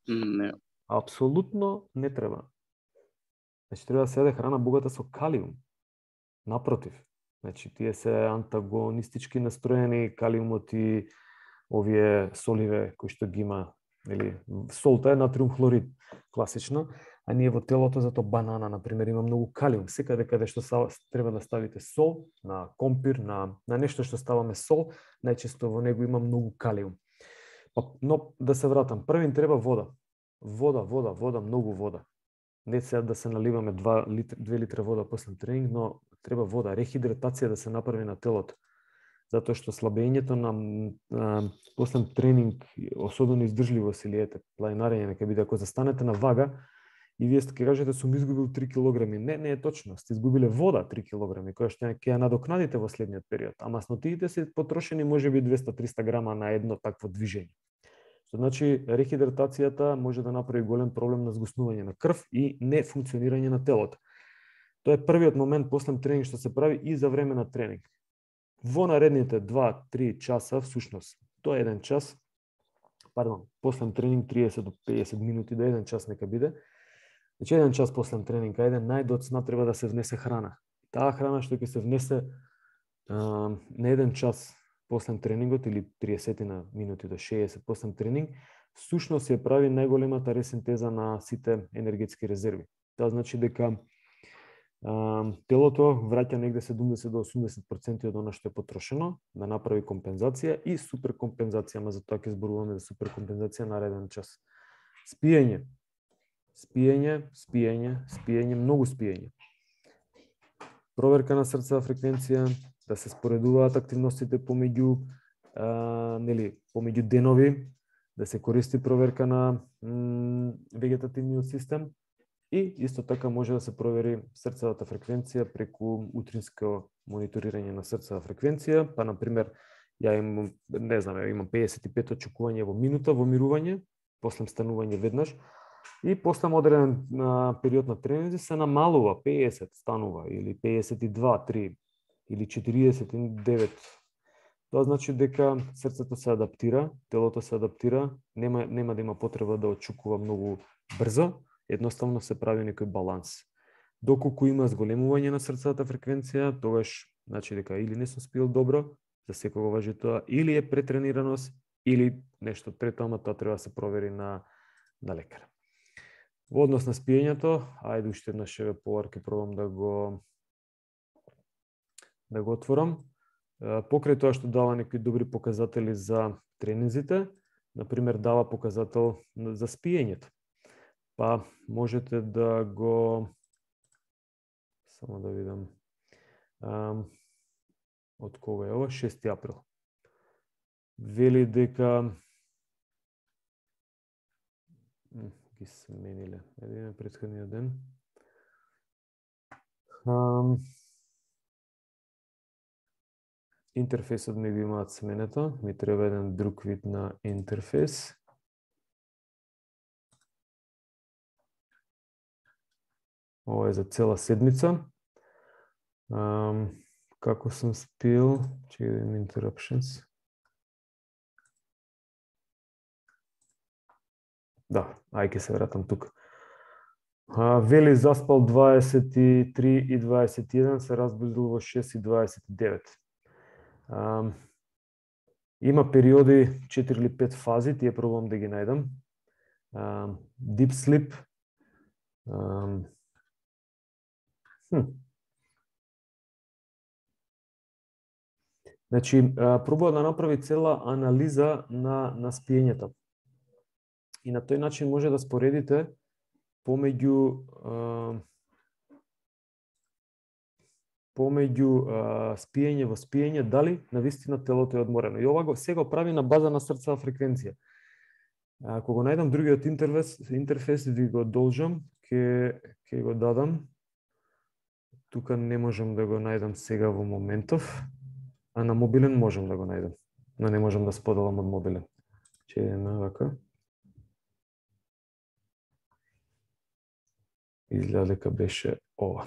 Не. Апсолутно не треба. Значи треба да се јаде храна богата со калиум. Напротив, значи тие се антагонистички настроени, калиумот и овие соливе кои што ги има, или солта е натриум хлорид, класично, а ние во телото зато банана на пример има многу калиум. Секаде каде што треба да ставите сол, на компир, на нешто што ставаме сол, најчесто во него има многу калиум. Но да се вратам, првин треба вода. Вода, многу вода. Не сега да се наливаме 2 литра вода после тренинг, но треба вода, рехидратација да се направи на телото. Затоа што слабењето на после тренинг, особено издржливост или планинарење, нека биде, ако застанете на вага и вие ќе кажете сум изгубил 3 килограми. Не е точно, сте изгубиле вода 3 килограми, која што ќе ја надокнадите во следниот период, а маснотиите се потрошени можеби 200-300 грама на едно такво движење. Што значи рехидратацијата може да направи голем проблем на згуснување на крв и нефункционирање на телото. Тоа е првиот момент после тренинг што се прави и за време на тренинг. Во наредните 2-3 часа, всушност, тоа е 1 час, после тренинг 30 до 50 минути до 1 час нека биде, Значи, 1 час после тренинг, ајде, најдоцна треба да се внесе храна. Таа храна што ќе се внесе на 1 час после тренингот или 30 минути до 60 после тренинг, сушност ја прави најголемата ресинтеза на сите енергетски резерви. Тоа значи дека телото враќа негде 70 до 80% од она што е потрошено да направи компензација и суперкомпензација, ама за тоа ќе зборуваме за суперкомпензација нареден час. Спиење, многу спиење. Проверка на срцева фреквенција, да се споредуваат активностите помеѓу денови, да се користи проверка на вегетативниот систем и исто така може да се провери срцевата фреквенција преку утринско мониторирање на срцева фреквенција, па на пример ја имам 55 очекување во минута во мирување, после станување веднаш и после одреден период на тренинзи се намалува 50 станува или 52, 3 или 49. Тоа значи дека срцето се адаптира, телото се адаптира, нема да има потреба да очекува многу брзо, едноставно се прави некој баланс. Доколку има зголемување на срцевата фреквенција, тогаш значи дека или не сум спил добро, за секого важи тоа, или е претренираност, или нешто трето, ама тоа треба да се провери на лекар. Во однос на спиењето, ајде уште еднаш поварки пробам да го отворам. Покрај тоа што дава некои добри показатели за тренинзите, например дава показател за спиењето. Па можете да го само да видам од кога е ова, 6 април. Вели дека ги смениле. Едиме претходниот ден. Интерфейсот ми го имаат сменето. Ми треба еден друг вид на интерфейс. Ова е за цела седмица. Како сум спил, чекај да имам interruptions. Да, ајде се вратам тука. Вели заспал 23 и 21, се разбудил во 6 и 29. Има периоди 4 или 5 фази, тие пробувам да ги најдам. Deep sleep. Значи, пробува да направи цела анализа на спиењето. И на тој начин може да споредите помеѓу спиење во спиење, дали навистина телото е одморено. И ова го сега прави на база на срцева фреквенција. Ако го најдам другиот интерфейс, ви го должам, ќе го дадам. Тука не можам да го најдам сега во моментов, а на мобилен можам да го најдам. Но не можам да споделам од мобилен. Че едно вака. Изгледа дека беше ова.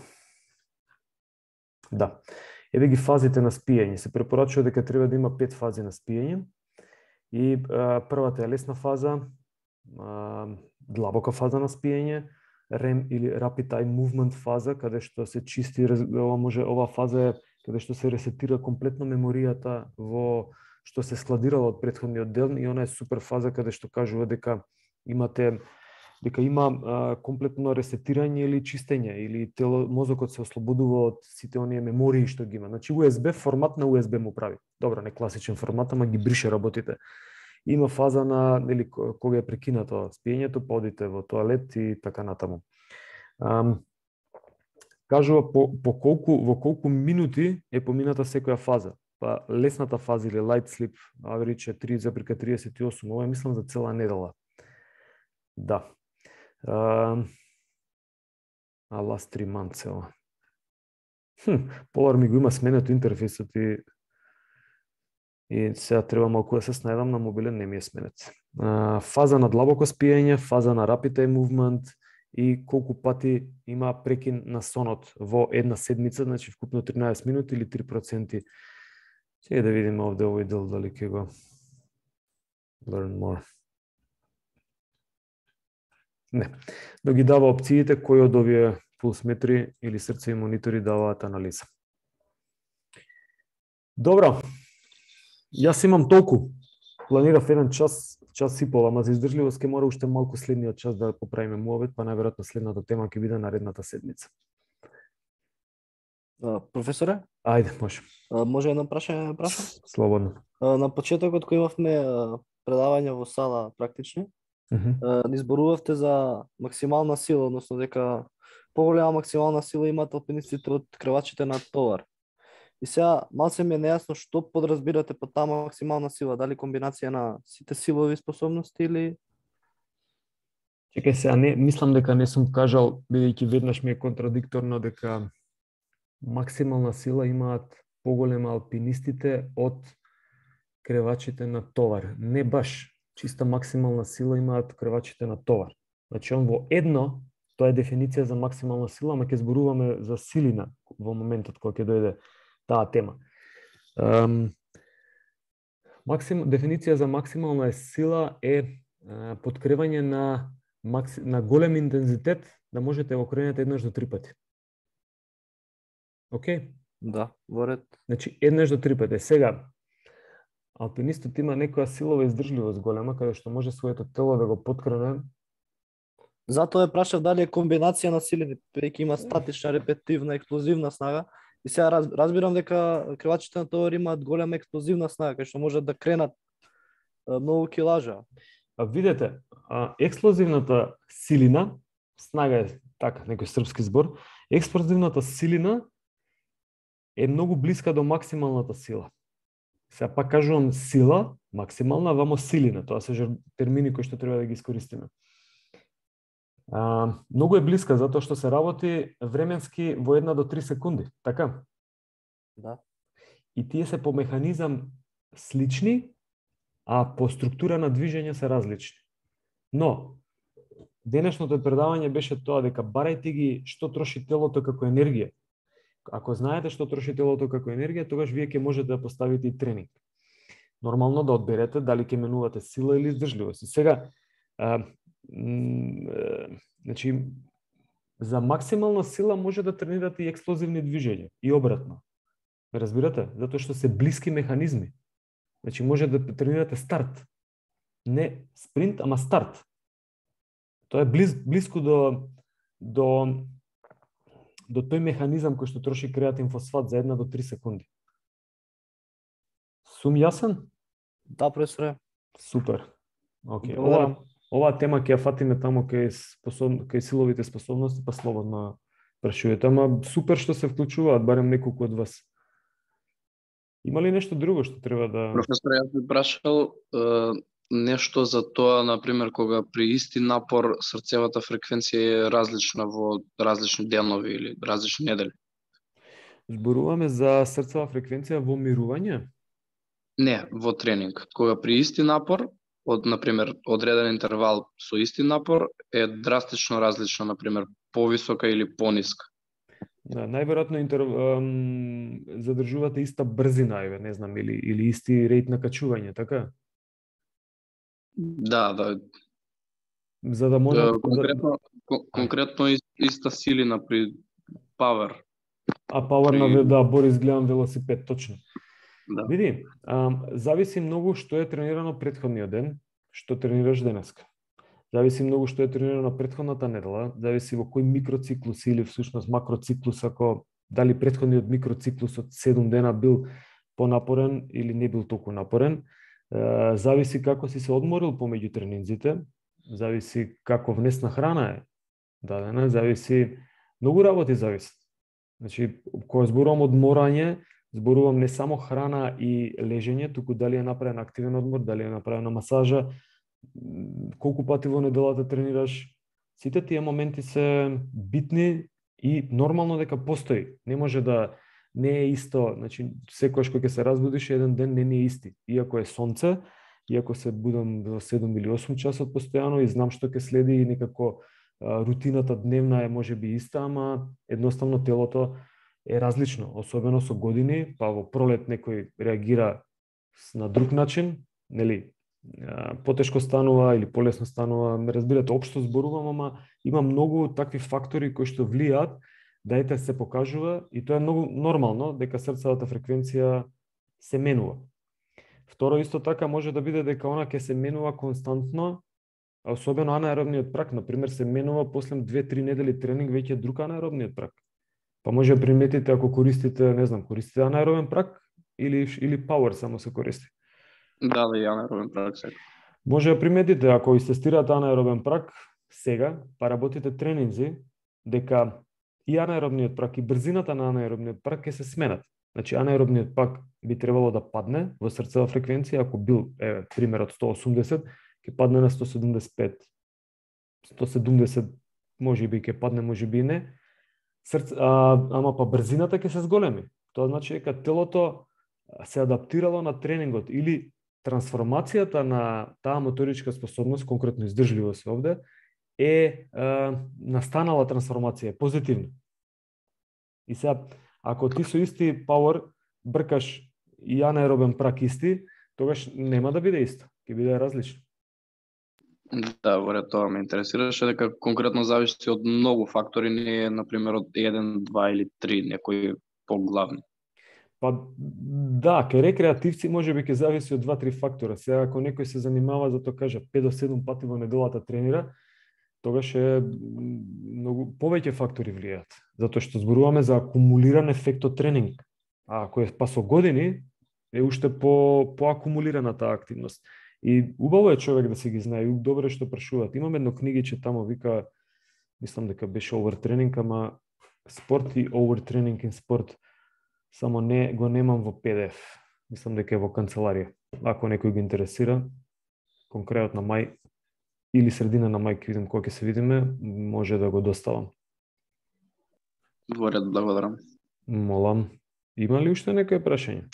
Да. Еве ги фазите на спиење. Се препорачува дека треба да има 5 фази на спиење. И првата е лесна фаза, длабока фаза на спиење, REM или Rapid Eye Movement фаза, каде што се чисти, ова фаза е каде што се ресетира комплетно меморијата во што се складирало од претходниот ден, и она е супер фаза каде што кажува дека има комплетно ресетирање или чистење, или мозокот се ослободува од сите оние мемории што ги има. Значи USB формат на USB му прави. Добро, не класичен формат, ама ги брише работите. Има фаза на кога е прекинато спиењето, па одите во тоалет и така натаму. Кажува во колку минути е помината секоја фаза. Па лесната фаза или light sleep, average е 3,38, ова е мислам за цела недела. Да. Last 3 months ова. Polar ми го има сменето интерфейсот и сега треба малку да се снајдам, на мобилен не ми е сменет. Фаза на длабоко спиење, фаза на rapid eye movement и колку пати има прекин на сонот во една седмица, значи вкупно 13 минути или 3%. Сега да видиме овде овој дел дали ќе го learn more. Не. Но ги дава опциите кои од овие пулсметри или срце и монитори даваат анализа. Добро. Јас имам толку. Планирав еден час и пол, ама за издржливост ќе мора уште малку следниот час да поправиме муавет, па најверојатно следната тема ќе биде наредната седмица. Професоре? Ајде, може. Може едно прашање да прашам? Слободно. На почетокот кој имавме предавање во сала практични, ни зборувавте за максимална сила, односно дека поголема максимална сила имаат алпинистите од кревачите на товар. И сега малце ми е нејасно што подразбирате под таа максимална сила, дали комбинација на сите силови способности или... Чекај сега, не, мислам дека не сум кажал, бидејќи веднаш ми е контрадикторно дека максимална сила имаат поголема алпинистите од кревачите на товар. Не баш. Чиста максимална сила имаат кревачите на товар. Значи, он во едно, тоа е дефиниција за максимална сила, ама ќе зборуваме за силина во моментот кога ќе дојде таа тема. Дефиниција за максимална сила е подкревање на голем интензитет, да можете да го кренете еднаш до 3 пати. Океј? Да, во ред. Значи, еднаш до 3 пати. Сега, алпинистот има некоја силова издржливост голема, каде што може своето тело да го подкрене. Затоа ја прашав дали е комбинација на силини, преки има статична, репетивна, експлозивна снага. И сега разбирам дека кревачите на товар имаат голема експлозивна снага, кај што можат да кренат многу килажа. Видете, експлозивната силина, снага е така, некој српски збор, експлозивната силина е многу блиска до максималната сила. Сега пак кажувам сила, максимална, вамо силина. Тоа се термини кои што треба да ги искористиме. Многу е блиска, затоа што се работи временски во 1 до 3 секунди, така? Да. И тие се по механизам слични, а по структура на движење се различни. Но, денешното предавање беше тоа дека барајте ги што троши телото како енергија. Ако знаете што троши телото како енергија, тогаш вие ќе можете да поставите и тренинг. Нормално да одберете дали ќе менувате сила или издржливост. И сега, значи, за максимална сила може да тренирате и експлозивни движења и обратно. Разбирате? Затоа што се блиски механизми. Значи, може да тренирате старт. Не спринт, ама старт. Тоа е близко до тој механизам кој што троши креатин фосфат за 1 до 3 секунди. Сум јасен? Да, професоре. Супер. Океј. Оваа тема ќе ја фатиме тамо кај силовите способности, па слободно прашувајте. Ама супер што се вклучуваат, барем неколку од вас. Има ли нешто друго што треба да... Професор, јас би прашал нешто за тоа, например, кога при исти напор срцевата фреквенција е различна во различни денови или различни недели. Зборуваме за срцева фреквенција во мирување? Не, во тренинг. Кога при исти напор, например, одреден интервал со исти напор е драстично различна, например, повисока или пониска. Да, најверојатно задржувате иста брзина, не знам, или исти рејт на качување, така? Да. За да може... Конкретно иста силина при power. Power на Борис гледам велосипед, точно. Да. Види, зависи многу што е тренирано претходниот ден, што тренираш денеска. Зависи многу што е тренирано претходната недела, зависи во кој микроциклус или всушност макроциклус, ако дали претходниот микроциклус од 7 дена бил понапорен или не бил толку напорен. Зависи како си се одморил помеѓу тренинзите, зависи како внесна храна е дадена, зависи многу работи зависи. Значи, кога зборувам одморање, зборувам не само храна и лежење, туку дали е направен активен одмор, дали е направена масажа, колку пати во неделата тренираш. Сите тие моменти се битни и нормално дека постои. Не може да не е исто, значи секогаш кога ќе се разбудиш еден ден не е исти. Иако е сонце, иако се будам во 7 или 8 часот постојано и знам што ќе следи и некако рутината дневна е можеби иста, ама едноставно телото е различно, особено со години, па во пролет некој реагира на друг начин, нели? потешко станува или полесно станува, ме разбирате, општо зборувам, ама има многу такви фактори кои што влијаат да се покажува и тоа е многу нормално дека срцевата фреквенција се менува. Второ, исто така може да биде дека она ќе се менува константно, а особено анаеробниот прак, например, се менува после 2-3 недели тренинг веќе друг анаеробниот прак. Па може да приметите ако користите, не знам, користите анаеробен прак или power само се користи. Да, и анаеробен прак сега. Може да приметите ако истестирате анаеробен прак сега, па работите тренинзи, дека и анаеробниот прак и брзината на анаеробниот прак ќе се сменат. Значи анаеробниот прак би требало да падне во срцева фреквенција, ако бил примерот 180, ќе падне на 175. 170 можеби ќе падне, можеби не. Ама па брзината ќе се зголеми. Тоа значи дека телото се адаптирало на тренингот или трансформацијата на таа моторичка способност, конкретно издржливост овде, настанала трансформација, позитивно. И сега, ако ти со исти power бркаш и анаеробен прак исти, тогаш нема да биде исто, ќе биде различно. Да, во ред, тоа ме интересираше, дека конкретно зависи од многу фактори, не е, например, од 1, 2 или 3, некои поглавни. Па да, кај рекреативци може би ќе зависи од 2-3 фактора. Сега ако некој се занимава, зато кажа 5 до 7 пати во неделата тренира, тогаш е многу повеќе фактори влијаат, затоа што зборуваме за акумулиран ефект од тренинг. А ако е па со години, е уште поакумулирана таа активност. И убаво е човек да се ги знае, добро е што прашуваат. Имам едно книгиче тамо, вика, мислам дека беше overtraining, ама спорт и overtraining in спорт, само не го немам во PDF. Мислам дека е во канцеларија. Ако некој го интересира, конкретно на мај или средина на мај, ќе видим кога ќе се видиме, може да го доставам. Во ред, благодарам. Молам. Има ли уште некој прашање?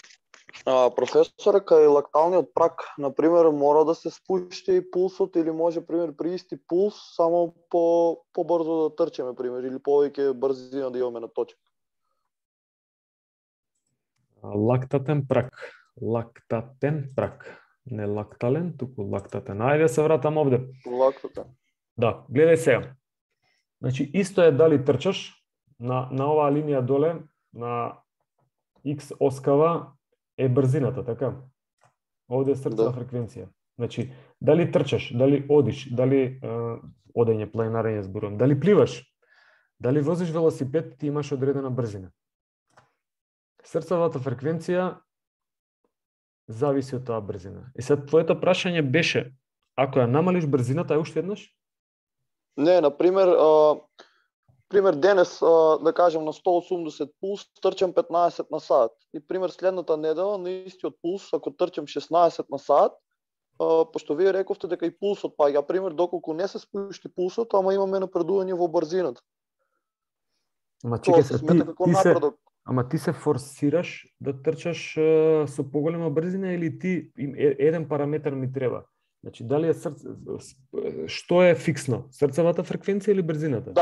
Професоре, кај лакталниот прак, например, мора да се спушти пулсот или може, пример, при исти пулс, само побрзо да трчеме, пример, или повеќе брзина да имаме на точка? Лактатен прак. Не лактален, туку лактатен. Ајде се вратам овде. Лактатен. Да, гледај сега. Значи, исто е дали трчаш на оваа линија доле, на X оскава е брзината, така? Овде е срцева фреквенција. Значи, дали трчаш, дали одиш, дали одење, планинарење зборувам, дали пливаш, дали возиш велосипед, ти имаш одредена брзина. Срцевата фреквенција зависи од таа брзина. И сега твоето прашање беше, ако ја намалиш брзината, уште еднаш? Не, например, денес, да кажем, на 180 пулс, трчам 15 на сат. И, пример, следната недела, на истиот пулс, ако трчам 16 на сат, пошто вие рековте дека и пулсот паѓа, пример, доколку не се спушти пулсот, ама имаме напредување во брзината. Ама ти се форсираш да трчаш со поголема брзина или ти еден параметар ми треба? Значи, дали е што е фиксно? Срцевата фреквенција или брзината?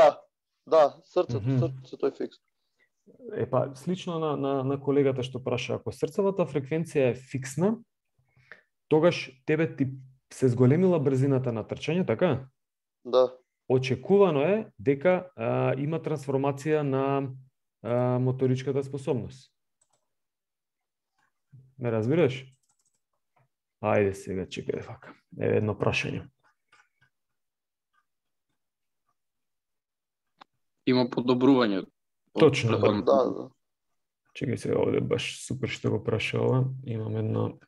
Да, срцето е фиксно. Па, слично на колегата што праша, ако срцевата фреквенција е фиксна, тогаш тебе ти се зголемила брзината на трчање, така? Да. Очекувано е дека има трансформација на моторичката способност. Ме разбираш? Ајде сега, чекај вака. Еве едно прашање. Има подобрување. Точно. Да. Чекај сега, овде баш супер што го праша ова. Имам едно...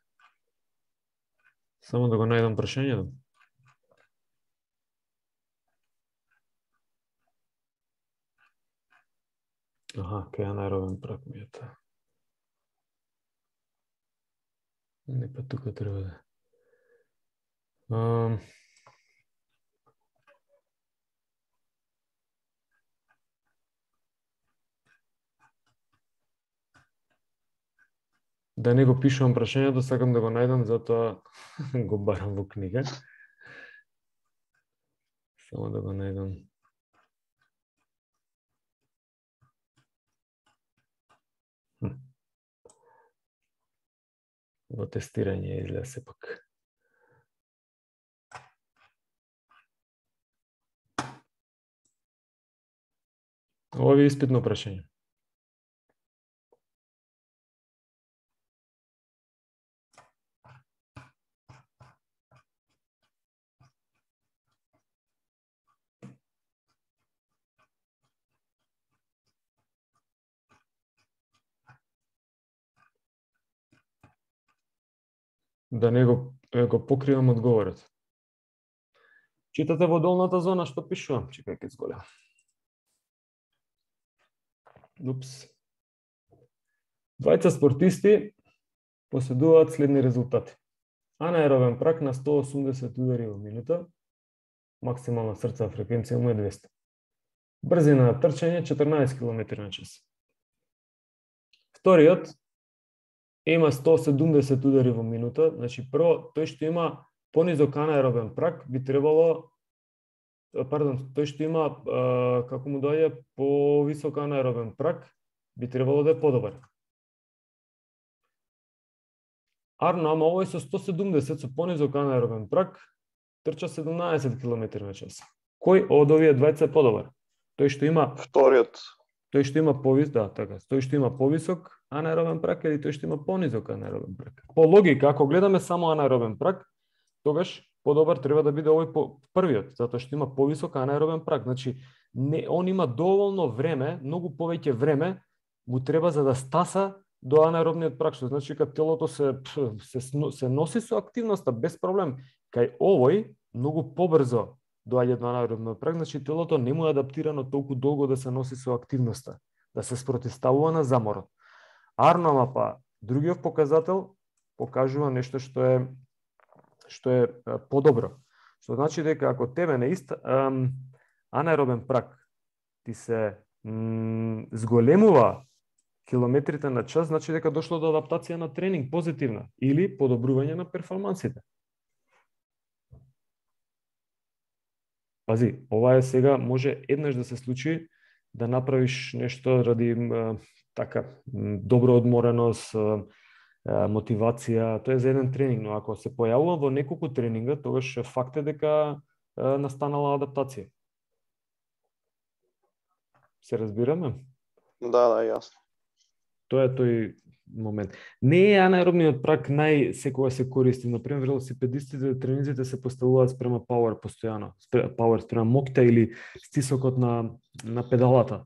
Само да го најдам прашањето. Аха, кај анаеробен прак ми е тоа. Не, па тука треба да... Да не го пишувам прашањето, сакам да го најдам, затоа го барам во книга. Само да го најдам. Во тестирање излезе сепак. Ова е испитно прашање. Да не го покривам одговорот. Читате во долната зона што пишувам? Чекај ке зголем. Упс. Двајца спортисти поседуваат следни резултати. Анаеробен прак на 180 удари во минута, максимална срцова фреквенција му е 200. Брзина на трчање 14 км на час. Вториот има 170 удари во минута, значи прво тој што има понизок анаеробен прак би требало тој што има како му доаѓа повисок анаеробен прак би требало да е подобар. Арно, ама овој со 170 со понизок анаеробен прак трча 17 км на час. Кој од овие двајца е подобар? Тој што има Вториот. Тој што има тој што има повисок анаеробен прак или тој што има понизок анаеробен прак? По логика, ако гледаме само анаеробен прак, тогаш подобар треба да биде овој првиот, затоа што има повисок анаеробен прак. Значи, он има доволно време, многу повеќе време му треба за да стаса до анаеробниот прак, што значи кога телото се носи со активноста без проблем. Кај овој многу побрзо доаѓа до анаеробниот прак, значи телото не му е адаптирано толку долго да се носи со активноста, да се спротивставува на заморот. Арно, па другиот показател покажува нешто што е подобро. Што значи дека ако тебе на анаеробен прак ти се зголемува километрите на час, значи дека дошло до адаптација на тренинг позитивна или подобрување на перформансите. Пази, ова е сега може еднаш да се случи да направиш нешто ради така добро одмореност, мотивација, тоа е за еден тренинг, но ако се појавува во неколку тренинга, тогаш факт е дека настанала адаптација. Се разбираме? Да, јасно. Тоа е тој момент. Не е анаеробниот прак секогаш се користи. Например, велосипедистите, тренизите се поставуваат спрема пауер постојано, пауер спрема моќта или стисокот на педалата.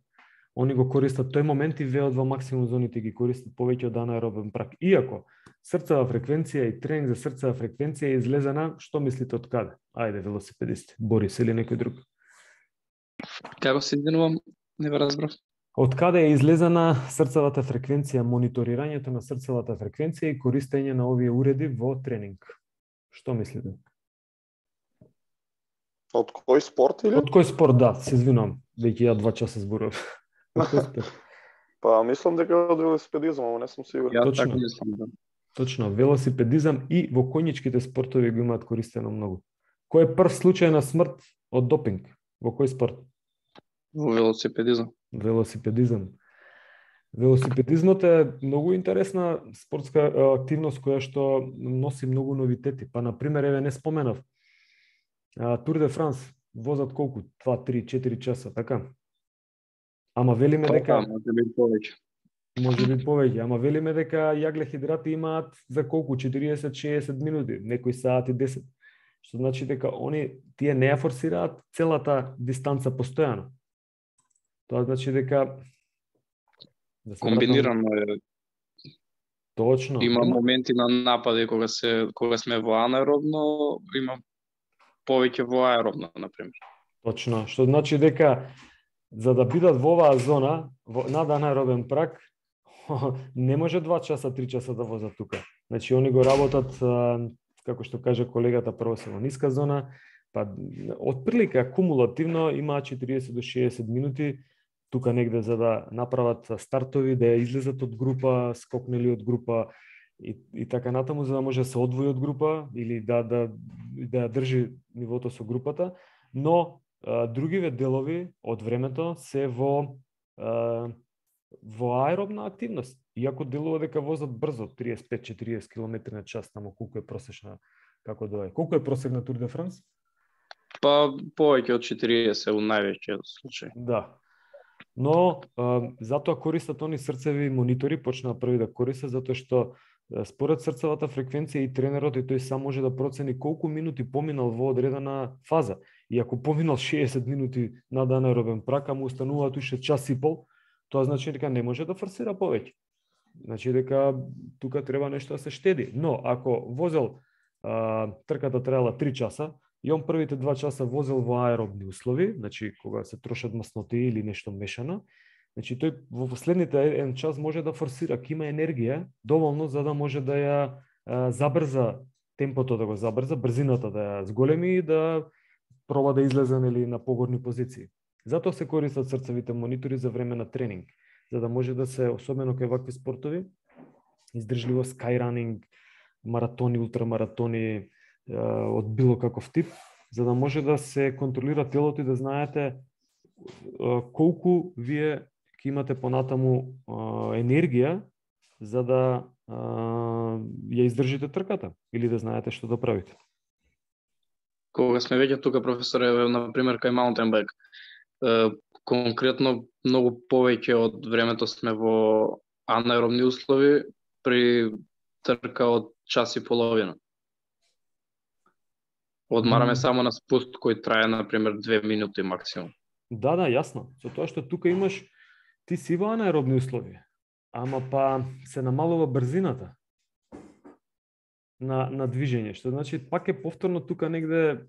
Они го користат тој момент и веот во максимум зоните ги користат повеќе од анаеробен прак. Иако срцева фреквенција и тренинг за срцева фреквенција е излезена, што мислите од каде? Ајде, велосипедисти, Борис или некој друг. Како се извинувам, не ве разбрав. Од каде е излезена срцевата фреквенција, мониторирањето на срцевата фреквенција и користење на овие уреди во тренинг? Што мислите? Од кој спорт или? Од кој спорт, да, се извинувам, веќе ја 2 часа зборувам. Па мислам дека од велосипедизам, ама не сум сигурен. Точно. Така мислам, да. Точно, велосипедизам и во коњичките спортови го имаат користено многу. Кој е прв случај на смрт од допинг? Во кој спорт? Во велосипедизам. Велосипедизам. Велосипедизмот е многу интересна спортска активност која што носи многу новитети. Па, например, еве не споменав, Тур де Франс возат колку? 2, 3, 4 часа, така? Ама велиме дека... Може би повеќе. Може би повеќе, ама велиме дека јаглехидрати имаат за колку? 40-60 минути, некои сати 10. Што значи дека тие не ја форсираат целата дистанца постојано. Тоа значи дека комбинирано е. Точно. Има моменти на напади кога сме во анаеробно, има повеќе во аеробно, например. Точно, што значи дека за да бидат во оваа зона, над анаеробен прак, не може 2 часа, 3 часа да возат тука. Значи, они го работат, како што каже колегата, прво се во ниска зона, па отприлика кумулативно имаат 40 до 60 минути тука негде за да направат стартови, да излезат од група, скокнели од група и така натаму, за да може да се одвои од група или да држи нивото со групата, но другиве делови од времето се во аеробна активност. Иако делува дека возат брзо, 35-40 км на час, тамо колку е просечна, како доаѓа. Колку е просек на Тур де Франс? Па повеќе од 40 у највеќиот случај. Да. Но затоа користат они срцеви монитори, почнаа први да користат, затоа што според срцевата фреквенција и тренерот и тој сам може да процени колку минути поминал во одредена фаза. И ако поминал 60 минути над анаеробен прак, а му остануваат уште час и пол, тоа значи дека не може да форсира повеќе. Значи дека тука треба нешто да се штеди. Но ако возел трката траела 3 часа, и он првите 2 часа возел во аеробни услови, значи кога се трошат масноти или нешто мешано, значи тој во последните 1 час може да форсира, ќе има енергија доволно за да може да ја забрза темпото, да го забрза, брзината да ја зголеми и да проба да излезе нели на погорни позиции. Затоа се користат срцевите монитори за време на тренинг, за да може да се, особено кај вакви спортови, издржливо скайранинг, маратони, ултрамаратони, од било каков тип, за да може да се контролира телото и да знаете колку вие ќе имате понатаму енергија за да ја издржите трката или да знаете што да правите. Кога сме веќе тука, професоре, на пример кај маунтен байк, конкретно многу повеќе од времето сме во анаеробни услови при трка од час и половина. Одмараме само на спуст кој трае, например, 2 минути максимум. Да, јасно. Со тоа што тука имаш, ти си во анаеробни услови, ама па се намалува брзината на движење, што значи пак е повторно тука негде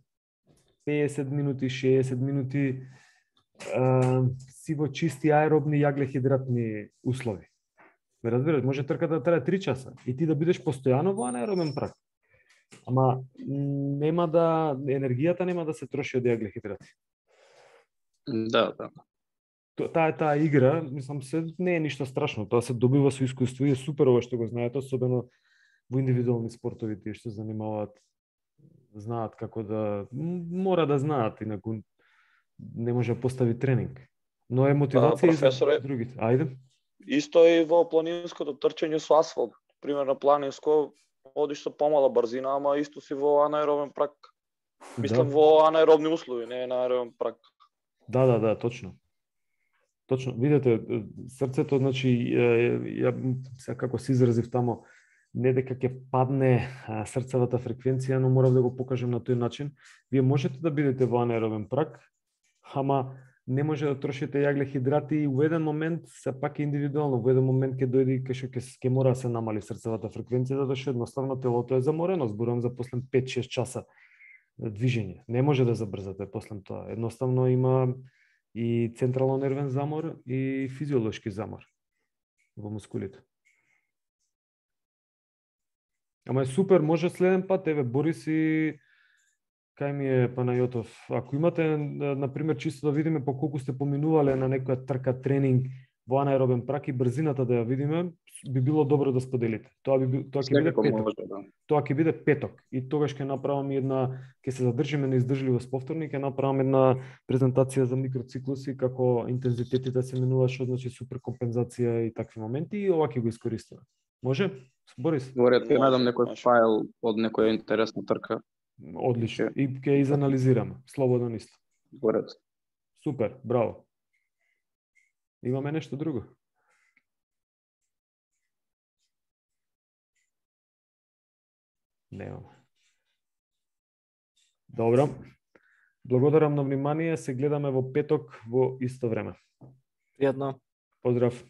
50 минути, 60 минути си во чисти аеробни јаглехидратни услови. Ме разбираш, може трката да трае 3 часа и ти да бидеш постојано во анаеробен прак. Ама нема да енергијата нема да се троши од јаглехидрати. Да. Таа игра, мислам, не е ништо страшно, тоа се добива со искуство и е супер ова што го знаете, особено во индивидуални спортови, тие што занимаваат, знаат како да, мора да знаат, инаку не може да постави тренинг. Но е мотивација за другите. Ајде. Исто и во планинското трчање со асфалт. Примерно планинско одиш со помала брзина, ама исто си во анаеробен прак. Мислам во анаеробни услови, не на аеробен прак. Да, точно. Точно. Видете, срцето, значи, ја како се изразив тамо, не дека ќе падне срцевата фреквенција, но морав да го покажем на тој начин. Вие можете да бидете во анаеробен прак, ама не може да трошите јаглехидрати и во еден момент, се пак е индивидуално, во еден момент ќе дојде кај што ќе мора да се намали срцевата фреквенција, затоа што едноставно телото е заморено, зборувам за после 5-6 часа движење. Не може да забрзате после тоа. Едноставно има и централно нервен замор и физиолошки замор во мускулите. Ама е супер, може следен пат, еве, Борис и кај ми е Панајотов. Ако имате, например, чисто да видиме по колку сте поминувале на некоја трка тренинг во анаеробен прак и брзината да ја видиме, би било добро да споделите. Тоа ќе биде петок. Тоа ќе биде петок и тогаш ќе направам ќе се задржиме на издржливост повторно и ќе направам една презентација за микроциклуси, како интензитетите се менуваат, што значи суперкомпензација и такви моменти, и ова ќе го искористиме. Може? Борис? Говорят, ќе најдам некој файл од некоја интересна трка. Одлично. И ќе изанализираме. Слободно исто. Говорят. Супер, браво. Имаме нешто друго? Немаме. Добро. Благодарам на внимание. Се гледаме во петок во исто време. Пријатно. Поздрав.